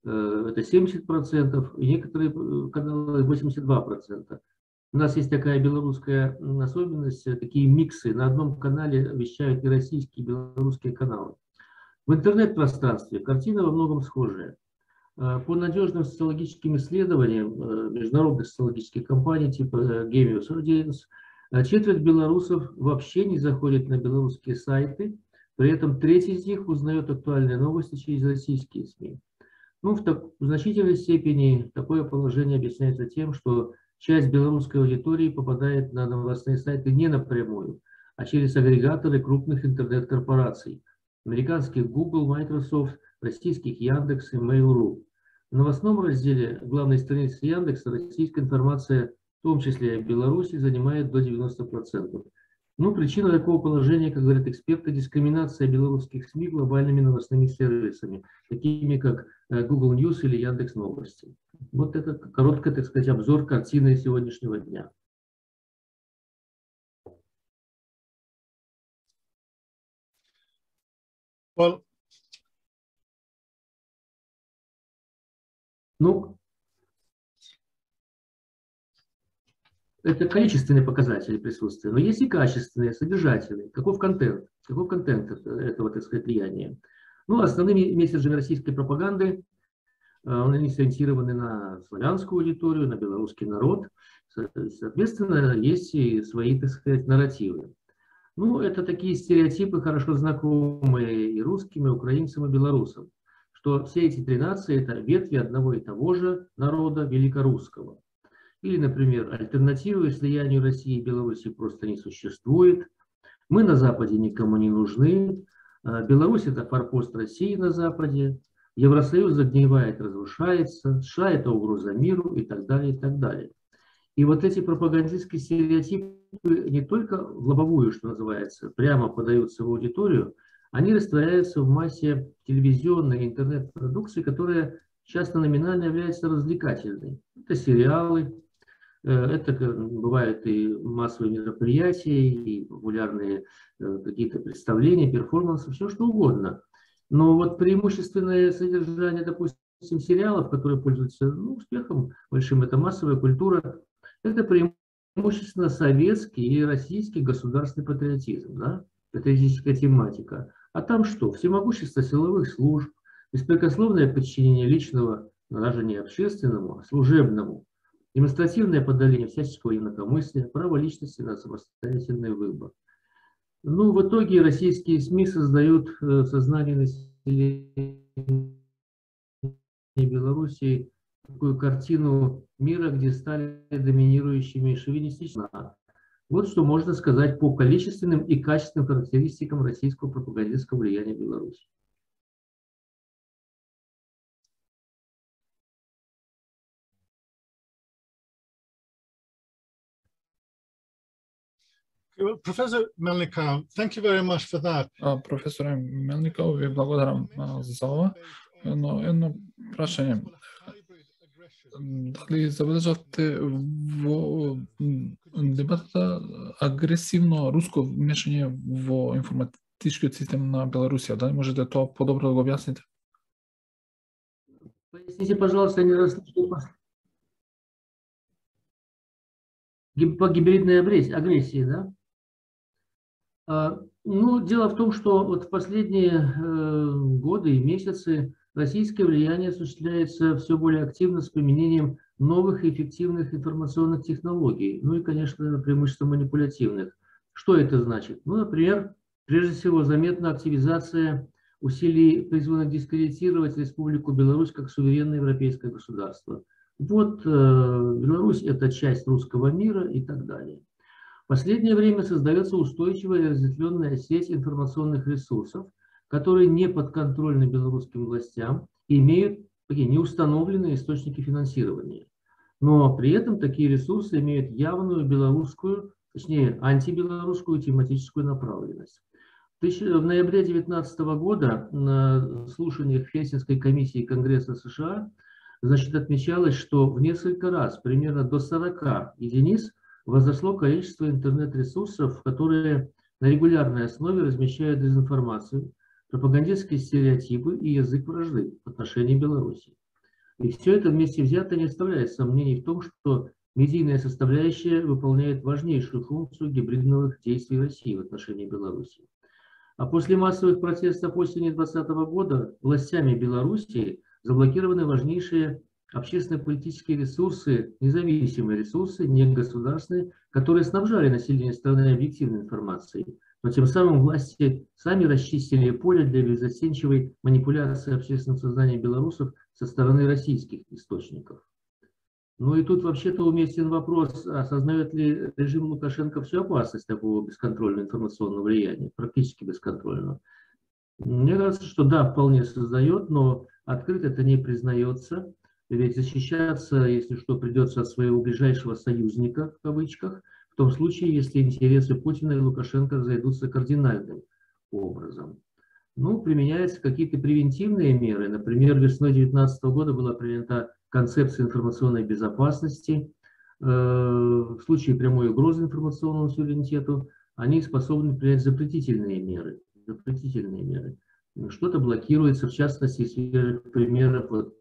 это 70%, и некоторые каналы 82%. У нас есть такая белорусская особенность, такие миксы. На одном канале вещают и российские, и белорусские каналы. В интернет-пространстве картина во многом схожая. По надежным социологическим исследованиям международных социологических компаний типа Gemius Audience, Четверть белорусов вообще не заходит на белорусские сайты, при этом треть из них узнает актуальные новости через российские СМИ. Ну, в значительной степени такое положение объясняется тем, что часть белорусской аудитории попадает на новостные сайты не напрямую, а через агрегаторы крупных интернет-корпораций. Американских Google, Microsoft, российских Яндекс и Mail.ru. В новостном разделе главной страницы Яндекса российская информация, в том числе и в Беларуси, занимает до 90%. Ну, причина такого положения, как говорят эксперты, дискриминация белорусских СМИ глобальными новостными сервисами, такими как Google News или Яндекс Новости. Вот это короткий, так сказать, обзор картины сегодняшнего дня. Well, ну, это количественные показатели присутствия, но есть и качественные, содержательные. Каков контент этого, так сказать, влияния? Ну, основными месседжами российской пропаганды, они сориентированы на славянскую аудиторию, на белорусский народ. Соответственно, есть и свои, так сказать, нарративы. Ну, это такие стереотипы, хорошо знакомые и русским, и украинцам, и белорусам, что все эти три нации – это ветви одного и того же народа великорусского. Или, например, альтернативы слиянию России и Беларуси просто не существует. Мы на Западе никому не нужны. Беларусь – это форпост России на Западе. Евросоюз загнивает, разрушается. США – это угроза миру и так далее, и так далее. И вот эти пропагандистские стереотипы не только в лобовую, что называется, прямо подаются в аудиторию, они растворяются в массе телевизионной и интернет-продукции, которая часто номинально является развлекательной. Это сериалы, это бывают и массовые мероприятия, и популярные какие-то представления, перформансы, все что угодно. Но вот преимущественное содержание, допустим, сериалов, которые пользуются успехом большим, это массовая культура, это преимущественно советский и российский государственный патриотизм, да? Патриотическая тематика. А там что? Всемогущество силовых служб, беспрекословное подчинение личного, даже не общественному, а служебному, демонстративное подавление всяческого инакомыслия, право личности на самостоятельный выбор. Ну, в итоге российские СМИ создают в сознании населения Белоруссии такую картину мира, где стали доминирующими шовинистичными. Вот что можно сказать по количественным и качественным характеристикам российского пропагандистского влияния в Беларуси. Professor Melnikov, thank you very much for that. Професоре Мелников, ви благодарам за ова. Но едно прашање. Дали забележавте во дебатата агресивно руско вмешање во информатичкиот систем на Белорусија? Дали можете тоа подобро да го објасните? Поясните, пожалуйста, не расслышал. По гибридной агрессии, да? Ну, дело в том, что вот в последние годы и месяцы российское влияние осуществляется все более активно с применением новых и эффективных информационных технологий, ну и, конечно, преимущественно манипулятивных. Что это значит? Ну, например, прежде всего, заметна активизация усилий, призванных дискредитировать Республику Беларусь как суверенное европейское государство. Вот Беларусь – это часть русского мира и так далее. В последнее время создается устойчивая и разветвленная сеть информационных ресурсов, которые не подконтрольны белорусским властям и имеют такие неустановленные источники финансирования. Но при этом такие ресурсы имеют явную белорусскую, точнее антибелорусскую тематическую направленность. В ноябре 2019 года на слушаниях Хельсинской комиссии Конгресса США отмечалось, что в несколько раз, примерно до 40 единиц, возросло количество интернет-ресурсов, которые на регулярной основе размещают дезинформацию, пропагандистские стереотипы и язык вражды в отношении Беларуси. И все это вместе взято не оставляет сомнений в том, что медийная составляющая выполняет важнейшую функцию гибридных действий России в отношении Беларуси. А после массовых протестов осени 2020 года властями Беларуси заблокированы важнейшие общественно-политические ресурсы, независимые ресурсы, не государственные, которые снабжали население страны объективной информацией. Но тем самым власти сами расчистили поле для беззастенчивой манипуляции общественным сознанием белорусов со стороны российских источников. Ну и тут вообще-то уместен вопрос, осознает ли режим Лукашенко всю опасность такого бесконтрольного информационного влияния, практически бесконтрольного. Мне кажется, что да, вполне создает, но открыто это не признается. Ведь защищаться, если что, придется от своего ближайшего союзника, в кавычках, в том случае, если интересы Путина и Лукашенко разойдутся кардинальным образом. Ну, применяются какие-то превентивные меры. Например, весной 2019 года была принята концепция информационной безопасности. В случае прямой угрозы информационному суверенитету они способны принять запретительные меры. Что-то блокируется, в частности, свежих примеров.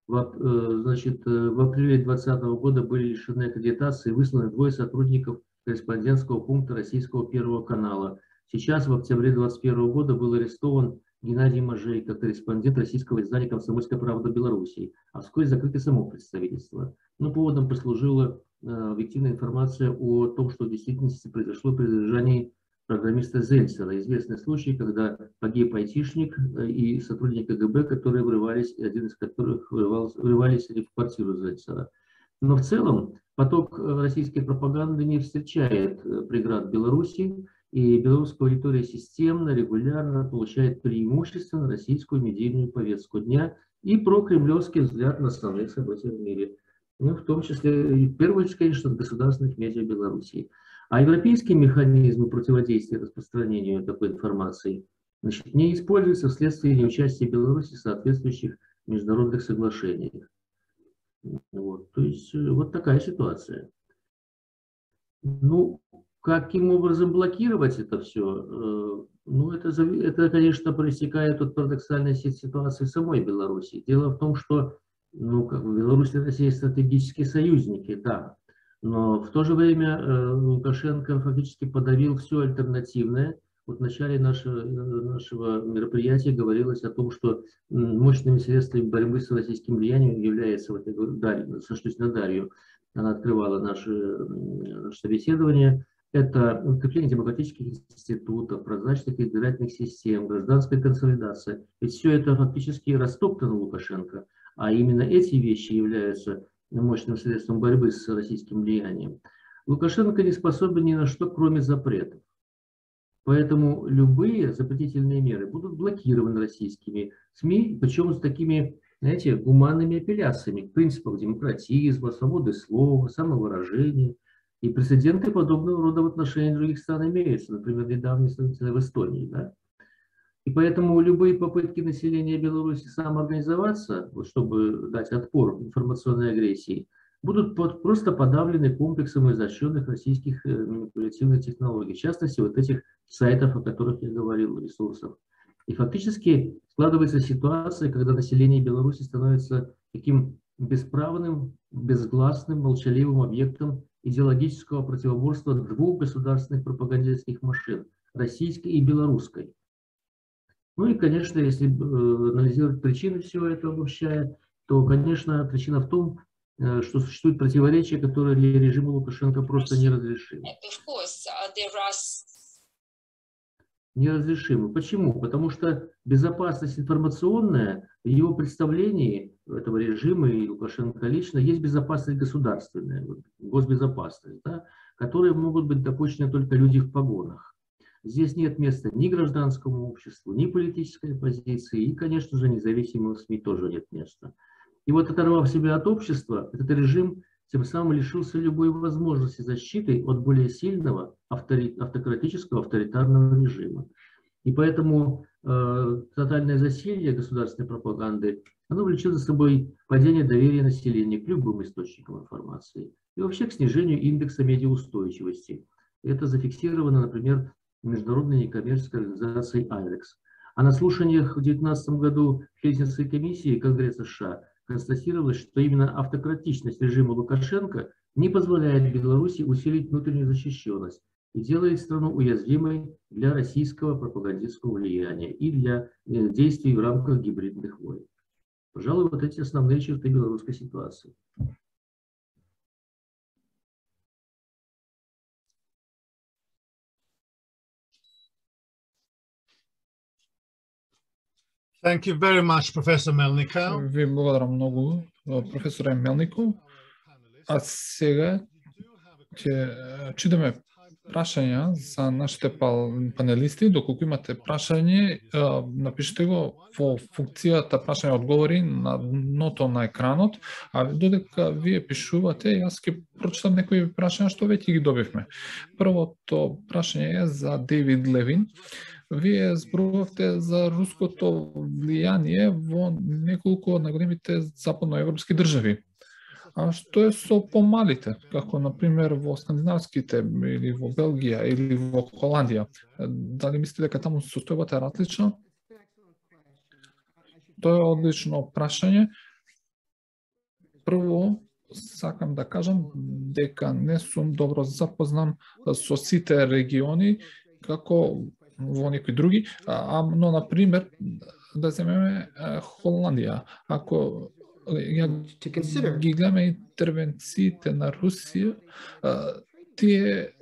Значит, в апреле 2020 года были лишены аккредитации и высланы 2 сотрудников корреспондентского пункта Российского Первого канала. Сейчас, в октябре 2021 года, был арестован Геннадий Можейко, корреспондент российского издания «Комсомольская правда» Белоруссии, а вскоре закрыто само представительство. Но поводом послужила объективная информация о том, что в действительности произошло при задержании программиста Зельцера. Известный случай, когда погиб айтишник и сотрудник КГБ, которые врывались, один из которых врывались в квартиру Зельцера. Но в целом поток российской пропаганды не встречает преград Беларуси, и белорусская аудитория системно, регулярно получает преимущество на российскую медийную повестку дня и прокремлевский взгляд на основные события в мире. Ну, в том числе, в первую очередь, конечно, от государственных медиа Беларуси. А европейские механизмы противодействия распространению такой информации, значит, не используются вследствие неучастия Беларуси в соответствующих международных соглашениях. Вот, то есть вот такая ситуация. Ну, каким образом блокировать это все? Ну, это, конечно, проистекает от парадоксальной ситуации в самой Беларуси. Дело в том, что Беларусь и Россия стратегические союзники, да. Но в то же время Лукашенко фактически подавил все альтернативное. Вот в начале нашего мероприятия говорилось о том, что мощными средствами борьбы с российским влиянием является, вот я говорю, Дарья, сошлюсь на Дарью, она открывала наше собеседование, это укрепление демократических институтов, прозрачных избирательных систем, гражданская консолидация. Ведь все это фактически растоптано Лукашенко, а именно эти вещи являются мощным средством борьбы с российским влиянием. Лукашенко не способен ни на что, кроме запретов. Поэтому любые запретительные меры будут блокированы российскими СМИ, причем с такими, знаете, гуманными апелляциями к принципам демократизма, свободы слова, самовыражения. И прецеденты подобного рода в отношении других стран имеются. Например, недавние события в Эстонии. Да? И поэтому любые попытки населения Беларуси самоорганизоваться, вот, чтобы дать отпор информационной агрессии, будут просто подавлены комплексом изощренных российских манипулятивных технологий, в частности, вот этих сайтов, о которых я говорил, ресурсов. И фактически складывается ситуация, когда население Беларуси становится таким бесправным, безгласным, молчаливым объектом идеологического противоборства 2 государственных пропагандистских машин, российской и белорусской. Ну и, конечно, если анализировать причины всего этого, обобщая, то, конечно, причина в том, что существует противоречие, которое для режима Лукашенко просто неразрешимо. Неразрешимо. Почему? Потому что безопасность информационная, в его представлении этого режима и Лукашенко лично, есть безопасность государственная, госбезопасность, да, которые могут быть допущены только люди в погонах. Здесь нет места ни гражданскому обществу, ни политической оппозиции, и, конечно же, независимым СМИ тоже нет места. И вот, оторвав себя от общества, этот режим тем самым лишился любой возможности защиты от более сильного автократического авторитарного режима. И поэтому тотальное засилье государственной пропаганды, оно влечет за собой падение доверия населения к любым источникам информации и вообще к снижению индекса медиаустойчивости. Это зафиксировано, например, международной некоммерческой организацией IREX. А на слушаниях в 2019 году Хельсинкской комиссии Конгресса США констатировалось, что именно автократичность режима Лукашенко не позволяет Беларуси усилить внутреннюю защищенность и делает страну уязвимой для российского пропагандистского влияния и для действий в рамках гибридных войн. Пожалуй, вот эти основные черты белорусской ситуации. Thank you very much, Professor Melnikov. Ви благодарам многу, професоре Мелников. А сега ќе читаме прашања за нашите панелисти. Доколку имате прашање, напишете го во функцијата прашање одговори на дното на екранот, а додека вие пишувате, јас ќе прочитам некои прашања што веќе ги добивме. Првото прашање е за Дейвид Левин. Вие зборувавте за руското влијание во неколку од најголемите западноевропски држави. А што е со помалите, како например во скандинавските или во Белгија или во Холандија? Дали мислите дека таму состојбата е различна? Тоа е одлично прашање. Прво, сакам да кажам дека не сум добро запознан со сите региони, како во некои други, но например да земеме Холандија. Ако ги гледаме интервенциите на Русија, тие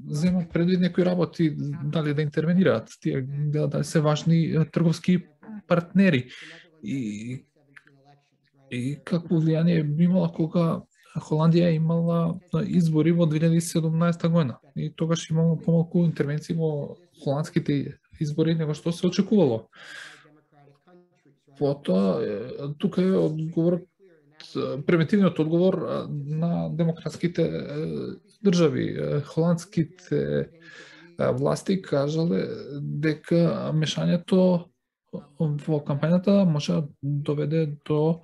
земат предвид некои работи дали да интервенираат, тие дали се важни трговски партнери и какво влијание би имала кога Холандија имала избори во 2017 година и тогаш имало помалку интервенции во холандските избори него што се очекувало. Потоа, тука е одговорот, превентивниот одговор на демократските држави. Холандските власти кажале дека мешањето во кампањата може да доведе до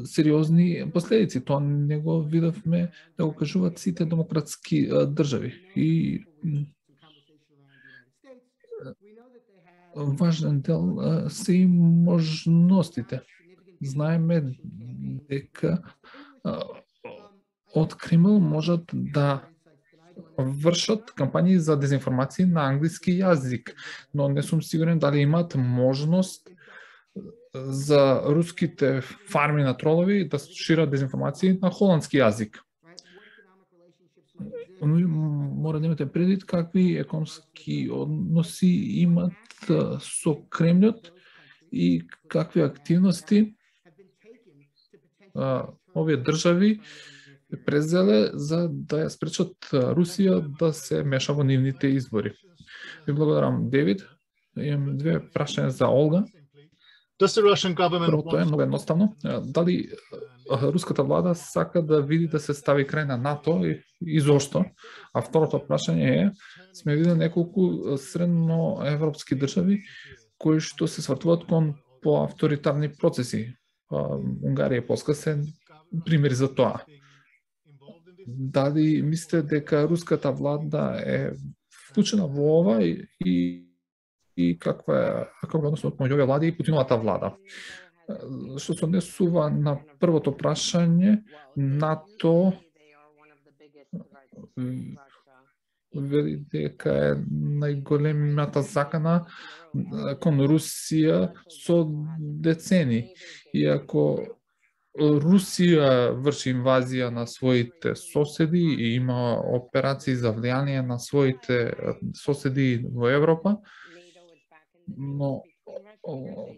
сериозни последици. Тоа не го видовме да го кажуваат сите демократски држави. И важен дел се и можностите. Знаеме дека од Кремљ можат да вршат кампањи за дезинформации на англиски јазик, но не сум сигурен дали имаат можност за руските фарми на тролови да шират дезинформации на холандски јазик. Мора да имате предвид какви економски односи имат со Кремљот и какви активности овие држави презеле за да ја спречат Русија да се меша во нивните избори. Ви благодарам, Девид. Имам две прашања за Олга. Првото е многу едноставно. Дали руската влада сака да види да се стави крај на НАТО и зошто? А второто прашање е, сме видели неколку средноевропски држави кои што се свртуваат кон поавторитарни процеси. Унгарија и Полска се примери за тоа. Дали мислите дека руската влада е вклучена во ова и каква е односот меѓу овие влади и Путиновата влада? Што се однесува на првото прашање, НАТО вели дека е најголемата закана кон Русија со децени. И ако Русија врши инвазија на своите соседи и има операции за влијание на своите соседи во Европа, но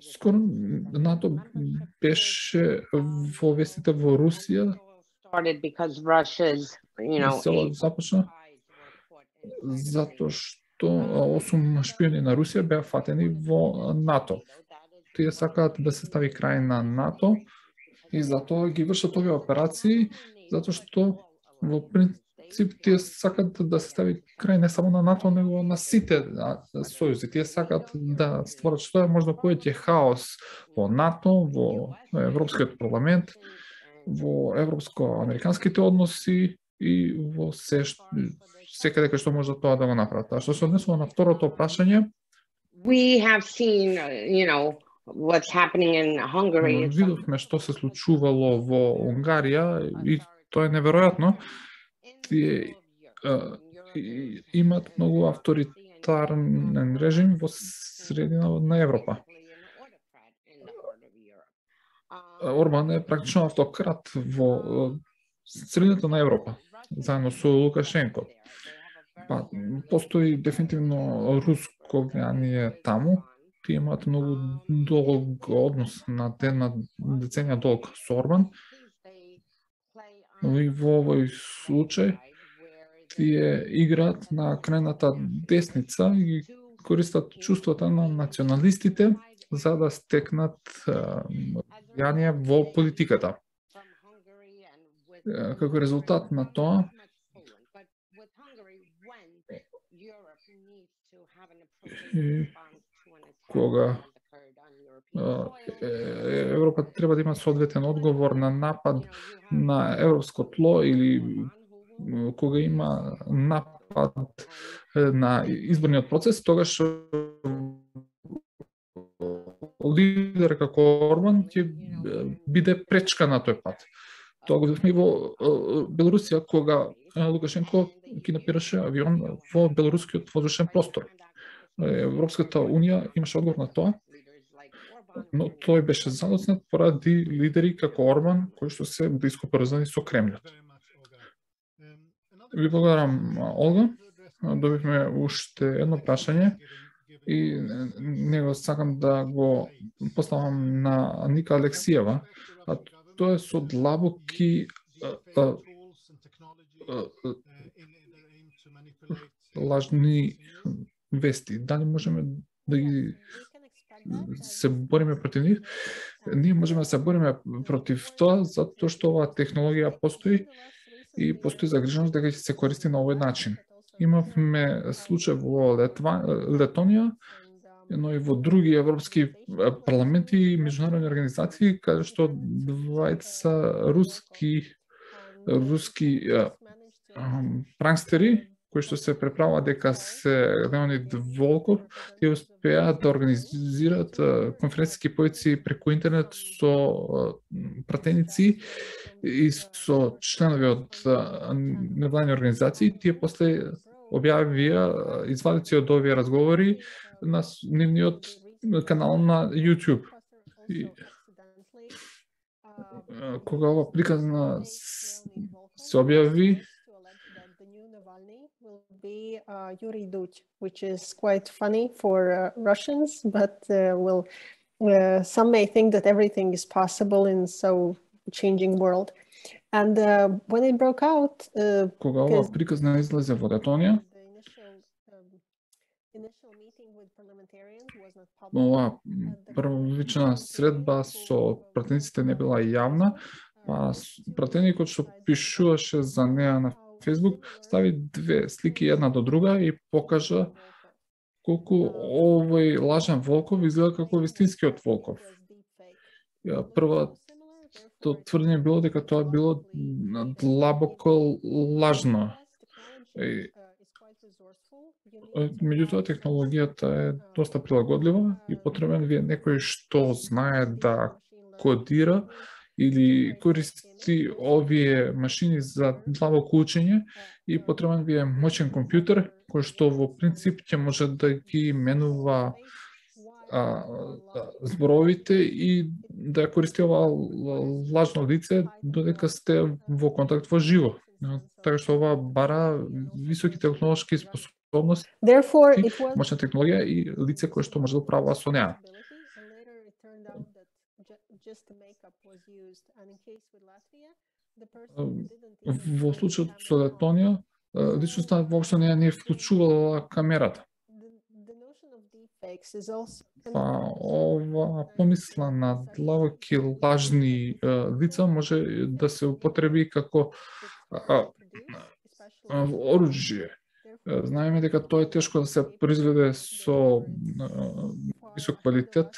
скоро НАТО беше во вестите во Русија и започна затоа што 8 шпиони на Русија беа фатени во НАТО. Тие сакаат да се стави крај на НАТО и затоа ги вршат овие операции, затоа што во принцип тие сакаат да се стави крај не само на НАТО, него на сите сојузи. Тие сакаат да створат што е можно повеќе хаос во НАТО, во Европскиот парламент, во европско-американските односи и во секаде кај што може тоа да го направат. А што се однесува на второто прашање? We have seen, what's happening in Hungary. Видовме што се случувало во Унгарија и тоа е неверојатно. Тие имат многу авторитарен режим во средина на Европа. Орбан е практично автократ во средината на Европа, заедно со Лукашенко. Па, постои дефинитивно руско влијание таму. Тие имаат многу долг однос на деценија долг со Орбан. Но и во овој случај тие играат на крајната десница и користат чувствата на националистите за да стекнат влијание во политиката. Како резултат на тоа, кога Европа треба да има соодветен одговор на напад на европско тло или кога има напад на изборниот процес, тогаш лидер како Орбан ќе биде пречка на тој пат. Тоа го видовме и во Белорусија, кога Лукашенко киднапираше авион во белорускиот воздушен простор. Европската унија имаше одговор на тоа, но тој беше залоснат поради лидери како Орбан, кои што се блиско поврзани со Кремљот. Ви благодарам, Олга. Добивме уште едно прашање и него сакам да го поставам на Ника Алексиева, а тоа е со длабоки лажни вести. Дали можеме да ги се бориме против нив? Ние можеме да се бориме против тоа затоа што оваа технологија постои и постои загриженост дека ќе се користи на овој начин. Имавме случај во Летонија, но и во други европски парламенти и меѓународни организации, каде што двајца руски пранкстери, кои што се преправа дека се Леонид Волков, тие успеаат да организираат конференциски појаци преку интернет со пратеници и со членови од невладини организации. Тие после објавија извадици од овие разговори на нивниот канал на YouTube. Кога ова приказна се објави, be Yuri Dutch, which is quite funny for Russians, but some may think that everything is possible in so changing world. And when it broke out, кога ова приказна излезе во Летонија, ова првична средба со пратениците не била јавна, па пратеникот што пишуваше за неа на Facebook стави две слики една до друга и покажа колку овој лажен Волков изгледа како вистинскиот Волков. Првото тврдење било дека тоа било длабоко лажно. Меѓутоа технологијата е доста прилагодлива и потребен ви е некој што знае да кодира или користи овие машини за длабоко учење и потребен ви е моćен компјутер кој што во принцип ќе може да ги менува зборовите и да користи ова лажно лице додека сте во контакт во живо. Така што ова бара високи технолошки способности, моćна технологија и лице кое што може да управува со неа. Во случајот со Летонија, личноста воопшто не е вклучувала камерата. Па ова помисла на длабоки лажни лица може да се употреби како оружје. Знаеме дека тоа е тешко да се произведе со висок квалитет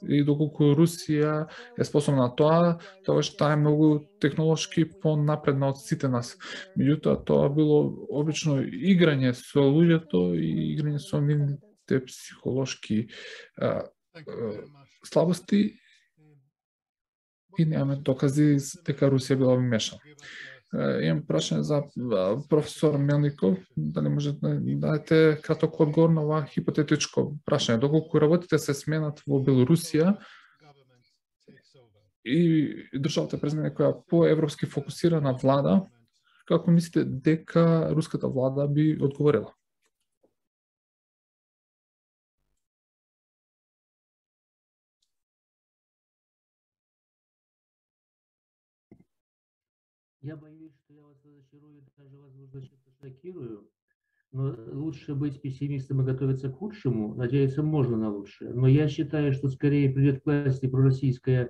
и доколку Русија е способна на тоа, тогаш таа е многу технолошки понапредна од сите нас. Меѓутоа тоа било обично играње со луѓето и играње со нивните психолошки слабости и немаме докази дека Русија била вмешана. Имам прашање за професор Мелников, дали може да дадете краток одговор на ова хипотетичко прашање. Доколку работите се сменат во Белорусија и државата презме некоја поевропски фокусирана влада, како мислите дека руската влада би одговорила? Я боюсь, что я вас разочарую и даже, возможно, чем-то шокирую. Но лучше быть пессимистом и готовиться к худшему. Надеяться можно на лучшее. Но я считаю, что скорее придет к власти пророссийское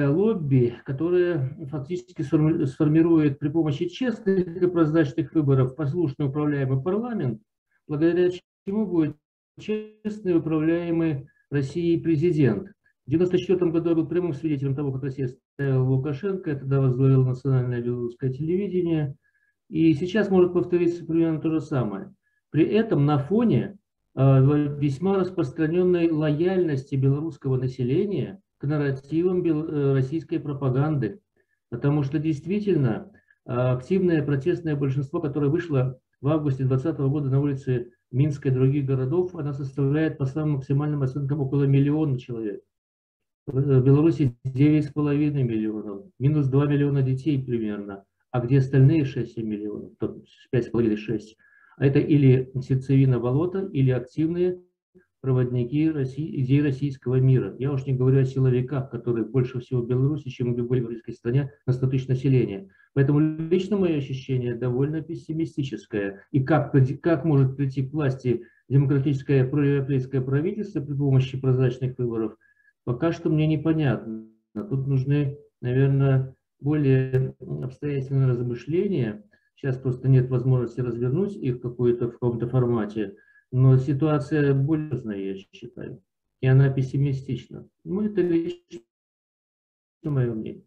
лобби, которое фактически сформирует при помощи честных и прозрачных выборов послушный управляемый парламент, благодаря чему будет честный управляемый Россией президент. В 1994 году я был прямым свидетелем того, как Россия ставила Лукашенко, я тогда возглавил национальное белорусское телевидение, и сейчас может повториться примерно то же самое. При этом на фоне весьма распространенной лояльности белорусского населения к нарративам российской пропаганды, потому что действительно активное протестное большинство, которое вышло в августе 2020 года на улице Минска и других городов, она составляет по самым максимальным оценкам около 1 миллиона человек. В Беларуси 9,5 миллионов, минус 2 миллиона детей примерно, а где остальные 6-7 миллионов, 5,5-6. А это или сердцевина болота, или активные проводники идей российского мира. Я уж не говорю о силовиках, которые больше всего в Беларуси, чем в любой европейской стране на 100 тысяч населения. Поэтому лично мое ощущение довольно пессимистическое. И как может прийти к власти демократическое проевропейское правительство при помощи прозрачных выборов, пока что мне непонятно. Тут нужны, наверное, более обстоятельные размышления. Сейчас просто нет возможности развернуть их в каком-то формате. Но ситуация более сложная, я считаю. И она пессимистична. Ну, это лично мое мнение.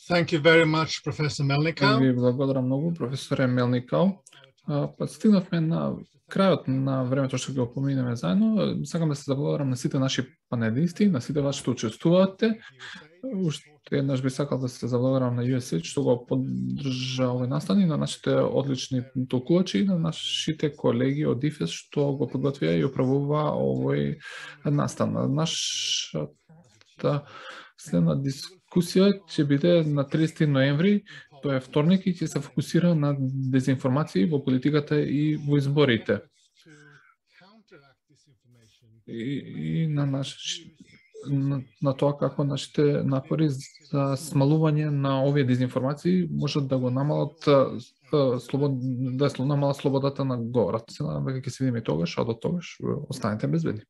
Thank you very much, Professor Melnikau. Ви благодарам многу, професоре Мелникау. Стигнавме на крајот на времето што го поминеме заедно. Сакам да се заблагодарам на сите наши панелисти, на сите вас што учествувате. Уште еднаш би сакал да се заблагодарам на USAID што го поддржа овој настан и на нашите одлични толкувачи, на нашите колеги од ИФЕС што го подготвија и управува овој настан. Нашата следна дискусија ќе биде на 30 ноември, тоа е вторник и ќе се фокусира на дезинформации во политиката и во изборите. И на тоа како нашите напори за смалување на овие дезинформации можат да го намалат намалат слободата на говорат. Се надам дека ќе се видиме тогаш, а до тогаш останете безбедни.